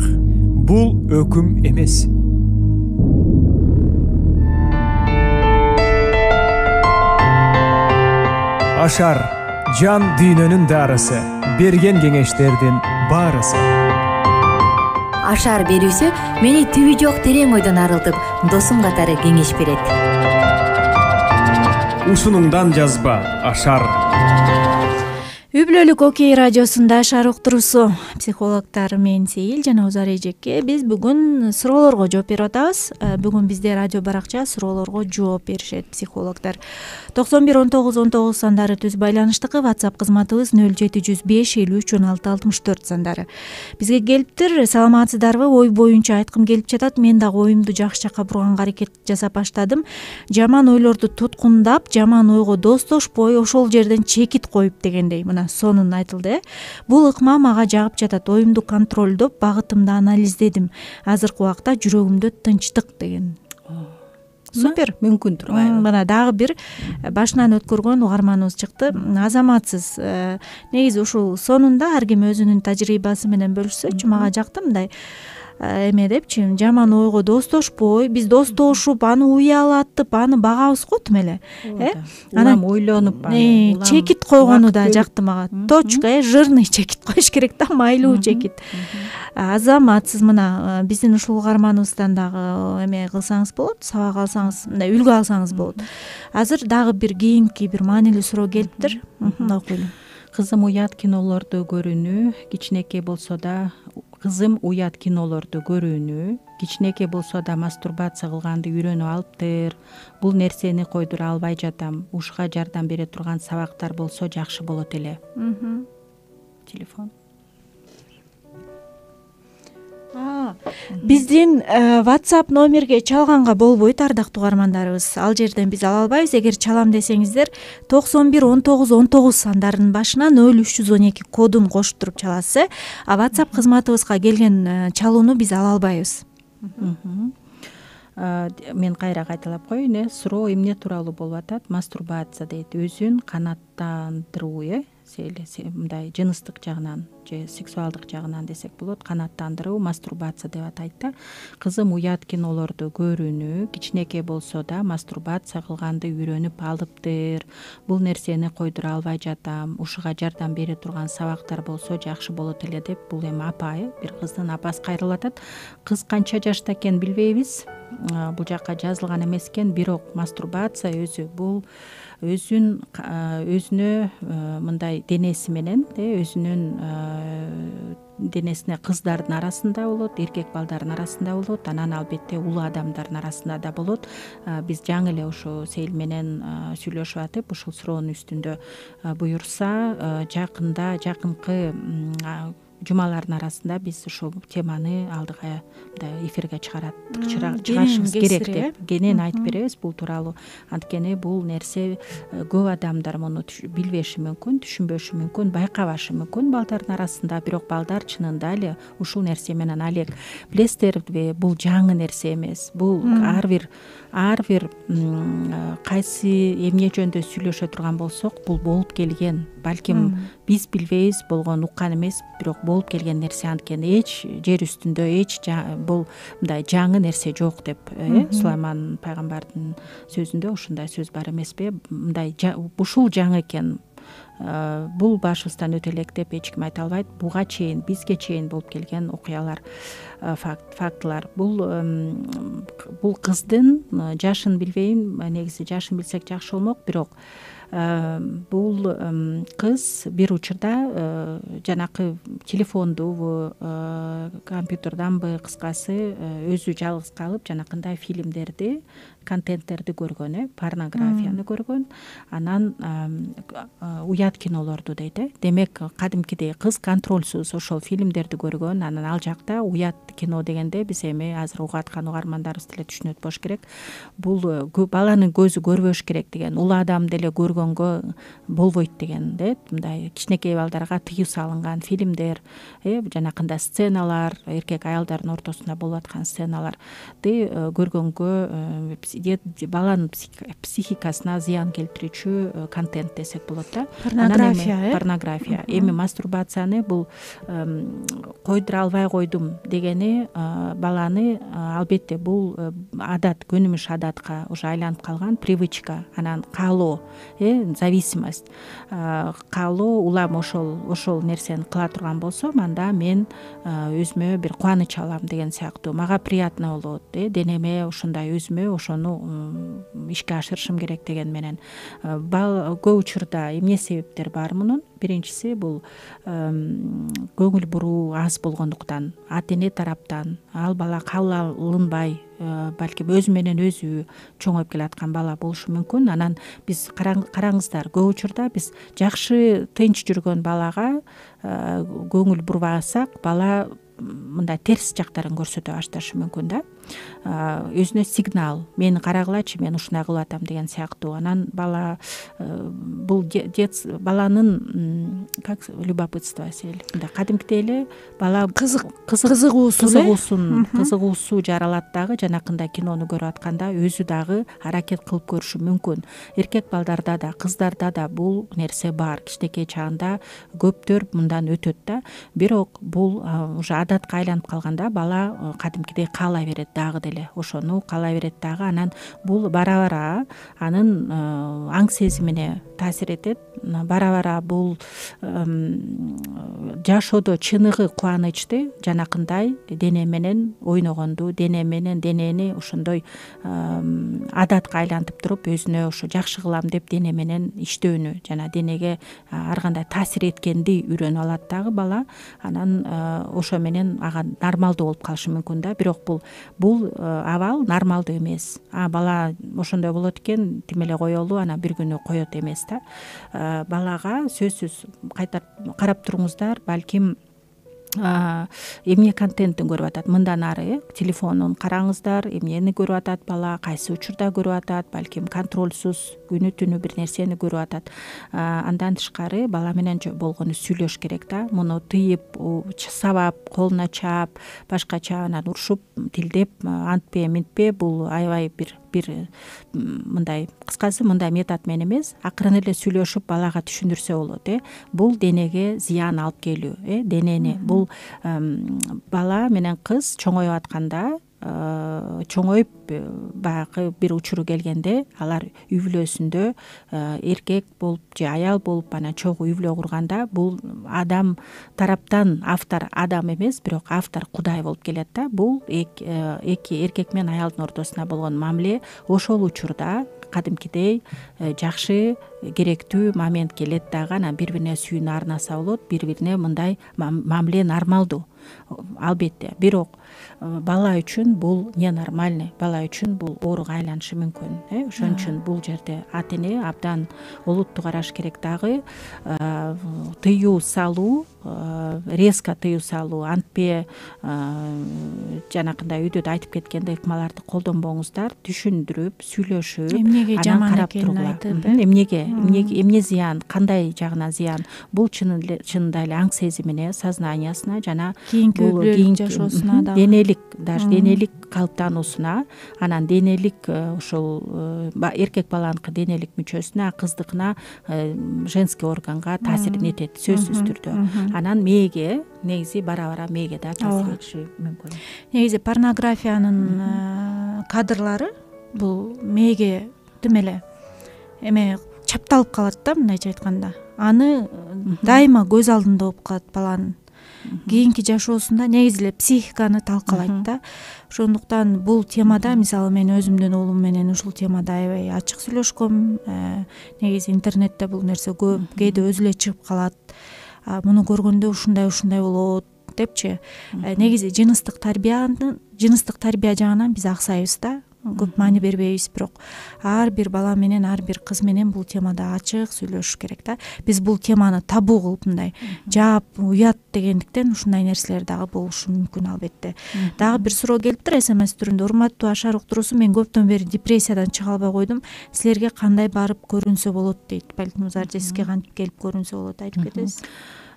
бул өкүм эмес. Ашар жан дүйнөнүн дарысы, берген кеңештердин баарысы. Ашар берүүсү мени түбү жок терең ойдон арылтып, досум катары кеңеш берет. Ушунуңдан жазба Ашар. Үй бүлөлүк Окей радиосунда Ашар уктуруусу. Психологдор мен Сейил жана Узар эжеке биз бүгүн суроолорго жооп берип атабыз. Бүгүн бизде радио баракча суроолорго жооп беришет психологдор. токсон бир он тогуз он тогуз сандары түз байланыштыкы, WhatsApp кызматыбыз нөл жети жүз беш элүү үч он алты алтымыш төрт сандары. Бизге келиптир. Саламатсыздарбы? Ой боюнча айткым келип жатат. Мен дагы оюмду жакшы жакка бурганга аракет жасап баштадым. Жаман ойлорду туткундап, жаман ойго достошпой, ошол жерден чекит коюп дегендей. Сонун айтылды э. Бул ыкма мага жагып жатат. Оюмду контролдоп, багытымды анализдедим. Азыркы убакта жүрөгүмдө тынчтык деген. Супер. Мүмкүн турбайбы? Мына дагы бир башынан өткөргөн угарманыбыз чыкты. Азаматсыз. Негизи ушул сонунда ар ким өзүнүн тажрыйбасы менен бөлүшсөчү, мага жакты мындай эме депчи, жаман ойго достошпой, биз достошуп, аны уялатып, аны багабыз го тим эле. Э? Анан ойлонуп, аны чекит койгону да жакты мага. Точка, э, жирный чекит коюш керек да, майлуу чекит. Азаматсыз мына биздин ушул угарманыбыздан дагы эме кылсаңыз болот, сабак алсаңыз, мындай үлгү алсаңыз болот. Азыр дагы бир кийинки бир маанилүү суроо келиптир. Окуйлу. Кызым уят кинолорду көрүүнү, кичинекей болсо да Кызым уят кинолорду көрүүнү, кичинекей болсо да мастурбация кылганды үйрөнүп алыптыр. Бул нерсени койдура албай жатам. Ушуга жардам бере турган сабактар болсо жакшы болот эле. Телефон. Биздин WhatsApp номерге чалганга болбойт, ардактуу угармандарыбыз. Ал жерден биз ала албайбыз. Эгер чалам десеңиздер, токсон бир он тогуз он тогуз сандарынын башына нөл үч жүз он эки кодун коштуруп чаласыз. А WhatsApp кызматыбызга келген чалууну биз ала албайбыз. Мен кайра кайталап коеюн, э, суроо эмне тууралуу болуп атат? Мастурбация дейт. Өзүн канааттандыруу, э, мындай жыныстык жагынан же сексуалдык жагынан десек болот, канааттандыруу, мастурбация деп атайт да. Кызым уят кинолорду көрүүнү, кичинекей болсо да мастурбация кылганды үйрөнүп алыптыр. Бул нерсени койдура албай жатам. Ушуга жардам бере турган сабактар болсо жакшы болот эле деп, бул эми апа, э, бир кыздын апасы кайрылып атат. Кыз канча жашта экенин билбейбиз. Бул жакка жазылган эмес экен, бирок мастурбация өзү бул өзүн өзүнө мындай денеси менен, өзүнүн денесине кыздардын арасында болот, эркек балдардын арасында болот, анан албетте улуу адамдардын арасында да болот. Биз жаңы эле ушу Сейил менен сүйлөшүп атып, ушул суроонун үстүндө буюрса, жакында жакынкы жумалардын арасында биз ушул теманы алдыга мындай эфирге чыгарат чыгарышыбыз керек деп кенен айтып беребиз бул тууралуу. Анткени бул нерсе көп адамдар муну билбеши мүмкүн, түшүнбөшү мүмкүн, байкабашы мүмкүн балдардын арасында, бирок балдар чынында эле ушул нерсе менен алек. Билесиздерби, бул жаңы нерсе эмес. Бул ар бир ар бир кайсы эмне жөнүндө сүйлөшө турган болсок, бул болуп келген. Балким биз билбейбиз, болгон уккан эмес, бирок болуп келген нерсе. Анткени эч жер үстүндө эч бул мындай жаңы нерсе жок деп, э, Сулайман пайгамбардын сөзүндө ушундай сөз бар эмеспи? Мындай ушул жаңы экен. Бул башыбыздан өтө элек деп эч ким айта албайт. Буга чейин, бизге чейин болуп келген окуялар, факт, фактылар. Бул бул кыздын жашын билбейм, негизи жашын билсек жакшы болмок, бирок бул кыз бир учурда жанакы телефондубу, компьютерданбы, кыскасы өзү жалгыз калып жанакындай фильмдерди, контенттерди көргөн, э, порнографияны көргөн. Анан уят кинолорду дейт, э. Демек, кадимкидей кыз контролсуз ошол фильмдерди көргөн. Анан ал жакта уят кино дегенде биз эми азыр угуп аткан угармандарыбыз деле түшүнөт болуш керек. Бул баланын көзү көрбөш керек деген, улуу адам деле көргөнгө болбойт деген, дейт. Мындай кичинекей балдарга тыюу салынган фильмдер, бар э жанакындай сценалар, эркек аялдардын ортосунда болуп аткан сценаларды көргөнгө баланын психикасына зыян келтирүүчү контент десек болот да. Порнография э порнография эми мастурбацияны бул койдура албай койдум дегени баланы албетте бул адат, көнүмүш адатка уже айланып калган привычка, анан каалоо э зависимость каалоо. Улам ошол ошол нерсени кыла турган болсом, анда мен өзүмө бир кубаныч алам деген сыяктуу, мага приятно болот э денеме ушундай, өзүмө ошону ишке ашырышым керек деген менен. Көп учурда эмне себептер бар мунун? Биринчиси бул көңүл буруу аз болгондуктан, ата эне тараптан ал бала кабыл алынбай, балким өзү менен өзү чоңоюп келаткан бала болушу мүмкүн. Анан биз караңыздар, көп учурда биз жакшы тынч жүргөн балага көңүл бурбасак, бала мындай терс жактарын көрсөтө башташы мүмкүн да. Өзүнө сигнал, мени карагылачы, мен ушундай кылып атам деген сыяктуу. Анан бала бул баланын как любопытство сел мындай кадимкидей эле бала кызык кызыгуусун кызыгуусу жаралат дагы, жанакындай кинону көрүп атканда өзү дагы аракет кылып көрүшү мүмкүн. Эркек балдарда да, кыздарда да бул нерсе бар. Кичинекей чагында көптөр мындан өтөт да. Бирок бул уже адатка айланып калганда бала кадимкидей каалай берет дагы деле, ошону каалай берет дагы. Анан бул бара-бара анын аң сезимине таасир этет. Бара-бара бул жашоодо чыныгы кубанычты жанакындай дене менен ойногонду, дене менен денени ошондой адатка айлантып туруп, өзүнө ошо жакшы кылам деп дене менен иштөөнү, жана денеге ар кандай таасир эткенди үйрөнүп алат дагы бала. Анан ошо менен ага нормалдуу болуп калышы мүмкүн да. Бирок бул бул абал нормалдуу эмес. А бала ошондой болот экен, тим эле коелу, анан бир күнү коет эмес да. Балага сөзсүз кайтарып карап туруңуздар, балким эмне контенттин көрүп атат мындан ары, телефонун караңыздар, эмнени көрүп атат бала, кайсы учурда көрүп атат, балким контролсуз күнү түнү бир нерсени көрүп атат. Андан тышкары бала менен болгону сүйлөш керек да. Муну тыйып, сабап, колуна чаап, башкача анан урушуп, тилдеп, антпе, минтпе, бул аябай бир бир мындай, кыскасы мындай метод менен эмес, акырын эле сүйлөшүп балага түшүндүрсө болот э. Бул денеге зыян алып келүү э, денени. Бул бала менен кыз чоңоюп атканда, чоңоюп баягы бир учуру келгенде, алар үй бүлөсүндө эркек болуп же аял болуп анан чогуу үй бүлө курганда, бул адам тараптан автор адам эмес, бирок автор Кудай болуп келет да. Бул эки эркек менен аялдын ортосунда болгон мамиле ошол учурда кадимкидей жакшы, керектүү момент келет дагы. Анан бири бирине сүйүүнү арнаса болот, бири бирине мындай мамиле нормалдуу албетте. Бирок бала үчүн бул ненормальный, бала үчүн бул ооруга айланышы мүмкүн э. Ошон үчүн бул жерде ата эне абдан олуттуу караш керек дагы. Тыюу салуу, резко тыюу салуу, антпе жанакындай үйдө да айтып кеткендей ыкмаларды колдонбоңуздар, түшүндүрүп, сүйлөшүп, эмнеге жаман карап экенин тургула. айтып, эмнеге эмнеге эмне зыян, кандай жагынан зыян, бул чынында эле аң сезимине, сознаниясына жана кийинки үй бүлөлүк жашоосуна да, денелик, даже денелик калыптануусуна, анан денелик ошол эркек баланыкы денелик мүчөсүнө, кыздыкына, женский органга таасирин этет сөзсүз түрдө. Анан мээге негизи бара-бара мээге да таасир этиши мүмкүн. Негизи порнографиянын кадрлары бул мээге тим эле эме чапталып калат да, мындайча айтканда. Аны дайыма көз алдында болуп калат баланын. Кийинки жашоосунда негизи эле психиканы талкалайт да. Ошондуктан бул темада, мисалы мен өзүмдүн уулум менен ушул темада аябай ачык сүйлөшкөм. Негизи интернетте бул нерсе көп, кээде өзү эле чыгып калат. Муну көргөндө ушундай ушундай болот депчи. Негизи жыныстык тарбиянын, жыныстык тарбия жагынан биз аксайбыз да. Көп маани бербейбиз, бирок ар бир бала менен, ар бир кыз менен бул темада ачык сүйлөшүш керек да. Биз бул теманы табу кылып мындай жаап, уят дегендиктен ушундай нерселер дагы болушу мүмкүн албетте. Дагы бир суроо келиптир смс түрүндө. Урматтуу Ашар уктуруусу, мен көптөн бери депрессиядан чыга албай койдум. Силерге кандай барып көрүнсө болот дейт. Балким Заржеске кантип келип көрүнсө болот, айтып кетесиз?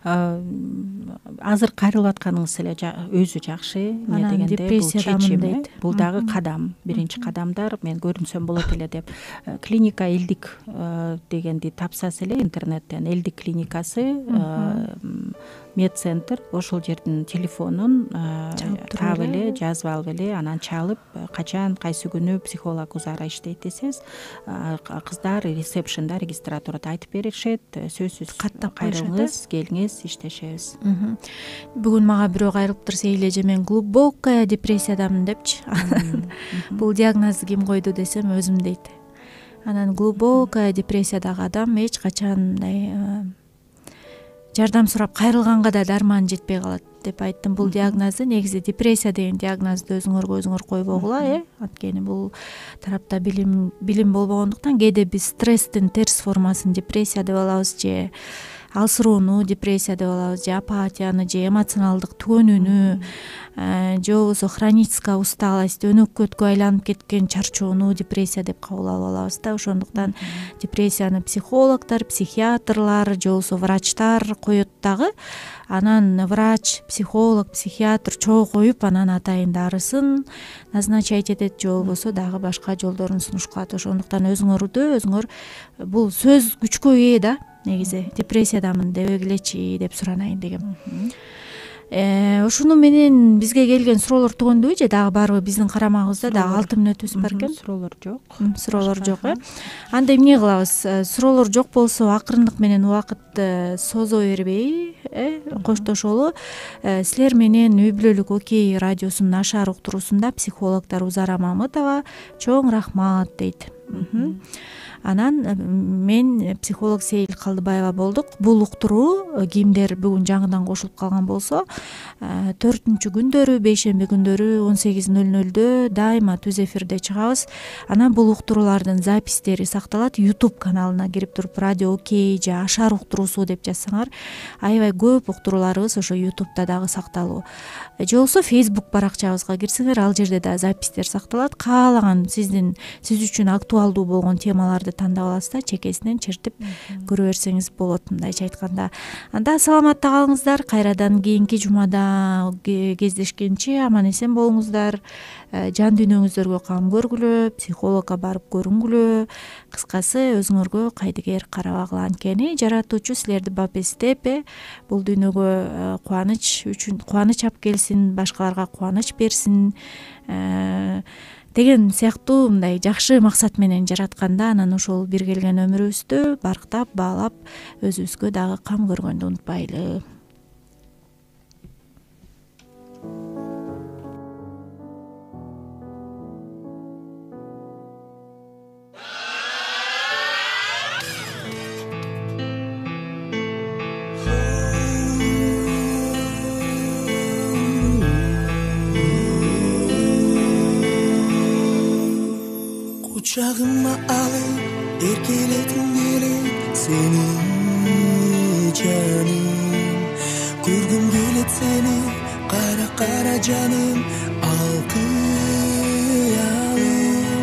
азыр кайрылып атканыңыз эле өзү жакшы. Эмне дегенде бул чечим, бул дагы кадам, биринчи кадамдар. Мен көрүнсөм болот эле деп клиника элдик дегенди тапсаңыз эле интернеттен, элдик клиникасы медцентр, ошол жердин телефонун таап эле, жазып алып эле, анан чалып, качан кайсы күнү психолог Узара иштейт десеңиз, кыздар ресепшнда, регистратурада айтып беришет. Сөзсүз каттап кайрылыңыз, келиңиз, иштешебиз. Бүгүн мага бирөө кайрылып турса, эже мен глубокая депрессиядамын депчи. Бул диагнозду ким койду десем, өзүм дейт. Анан глубокая депрессиядагы адам эч качан мындай жардам сурап кайрылганга да дарман жетпей калат деп айттым. Бул диагнозду негизи депрессия деген диагнозду өзүңөргө өзүңөр койбогула, э анткени бул тарапта билим билим болбогондуктан кээде биз стресстин терс формасын депрессия деп алабыз, же алсыроону депрессия деп алабыз, же апатияны, же эмоционалдык түгөнүүнү, же болбосо хроническая усталость, өнөкөткө айланып кеткен чарчоону депрессия деп кабыл алып алабыз да. Ошондуктан депрессияны психологдор, психиатрлар же болбосо врачтар коет дагы. Анан врач, психолог, психиатр чогуу коюп, анан атайын дарысын назначать этет, же болбосо дагы башка жолдорун сунушкалат. Ошондуктан өзүңөрдү өзүңөр, бул сөз күчкө ээ да, негизи депрессиядамын дебегилечи деп суранайын дегем. Ушуну менен бизге келген суроолор түгөндөбү, же дагы барбы? Биздин карамагыбызда дагы алты мүнөтүбүз бар экен. Суроолор жок. Суроолор жок, э. Анда эмне кылабыз? Суроолор жок болсо, акырындык менен убакытты созо бербей, э, коштошолу. Силер менен Үй бүлөлүк Окей радиосунун Ашар уктуруусунда психологдор Узара Мамытова чоң рахмат дейт. Анан мен психолог Сейил Калдыбаева болдук. Бул уктуруу кимдер бүгүн жаңыдан кошулуп калган болсо, төртүнчү күндөрү, бейшемби күндөрү он сегиз ноль нольдө дайыма түз эфирде чыгабыз. Анан бул уктуруулардын запистери сакталат. YouTube каналына кирип туруп Радио Окей же Ашар уктуруусу деп жазсаңар, аябай көп уктурууларыбыз ошо YouTube'да дагы сакталуу. Же болбосо Facebook баракчабызга кирсеңер, ал жерде да запистер сакталат. Каалаган сиздин сиз үчүн актуалдуу болгон темаларды тандап аласыз да, чекесинен чертип көрө берсеңиз болот, мындайча айтканда. Анда саламатта калыңыздар. Кайрадан кийинки жумада кездешкенче аман эсен болуңуздар. Жан дүйнөңүздөргө кам көргүлө, психологко барып көрүнгүлө. Кыскасы, өзүңөргө кайдыгер карабагыла. Анткени жаратуучу силерди бап эстеп, бул дүйнөгө кубаныч үчүн кубаныч алып келсин, башкаларга кубаныч берсин деген сыяктуу мындай жакшы максат менен жаратканда, анан ошол бир келген өмүрүбүздү барктап, баалап, өзүбүзгө дагы кам көргөндү унутпайлы. Кучагыма алып эркелетким келет сени жаным, көргүм келет сени кара кара жаным,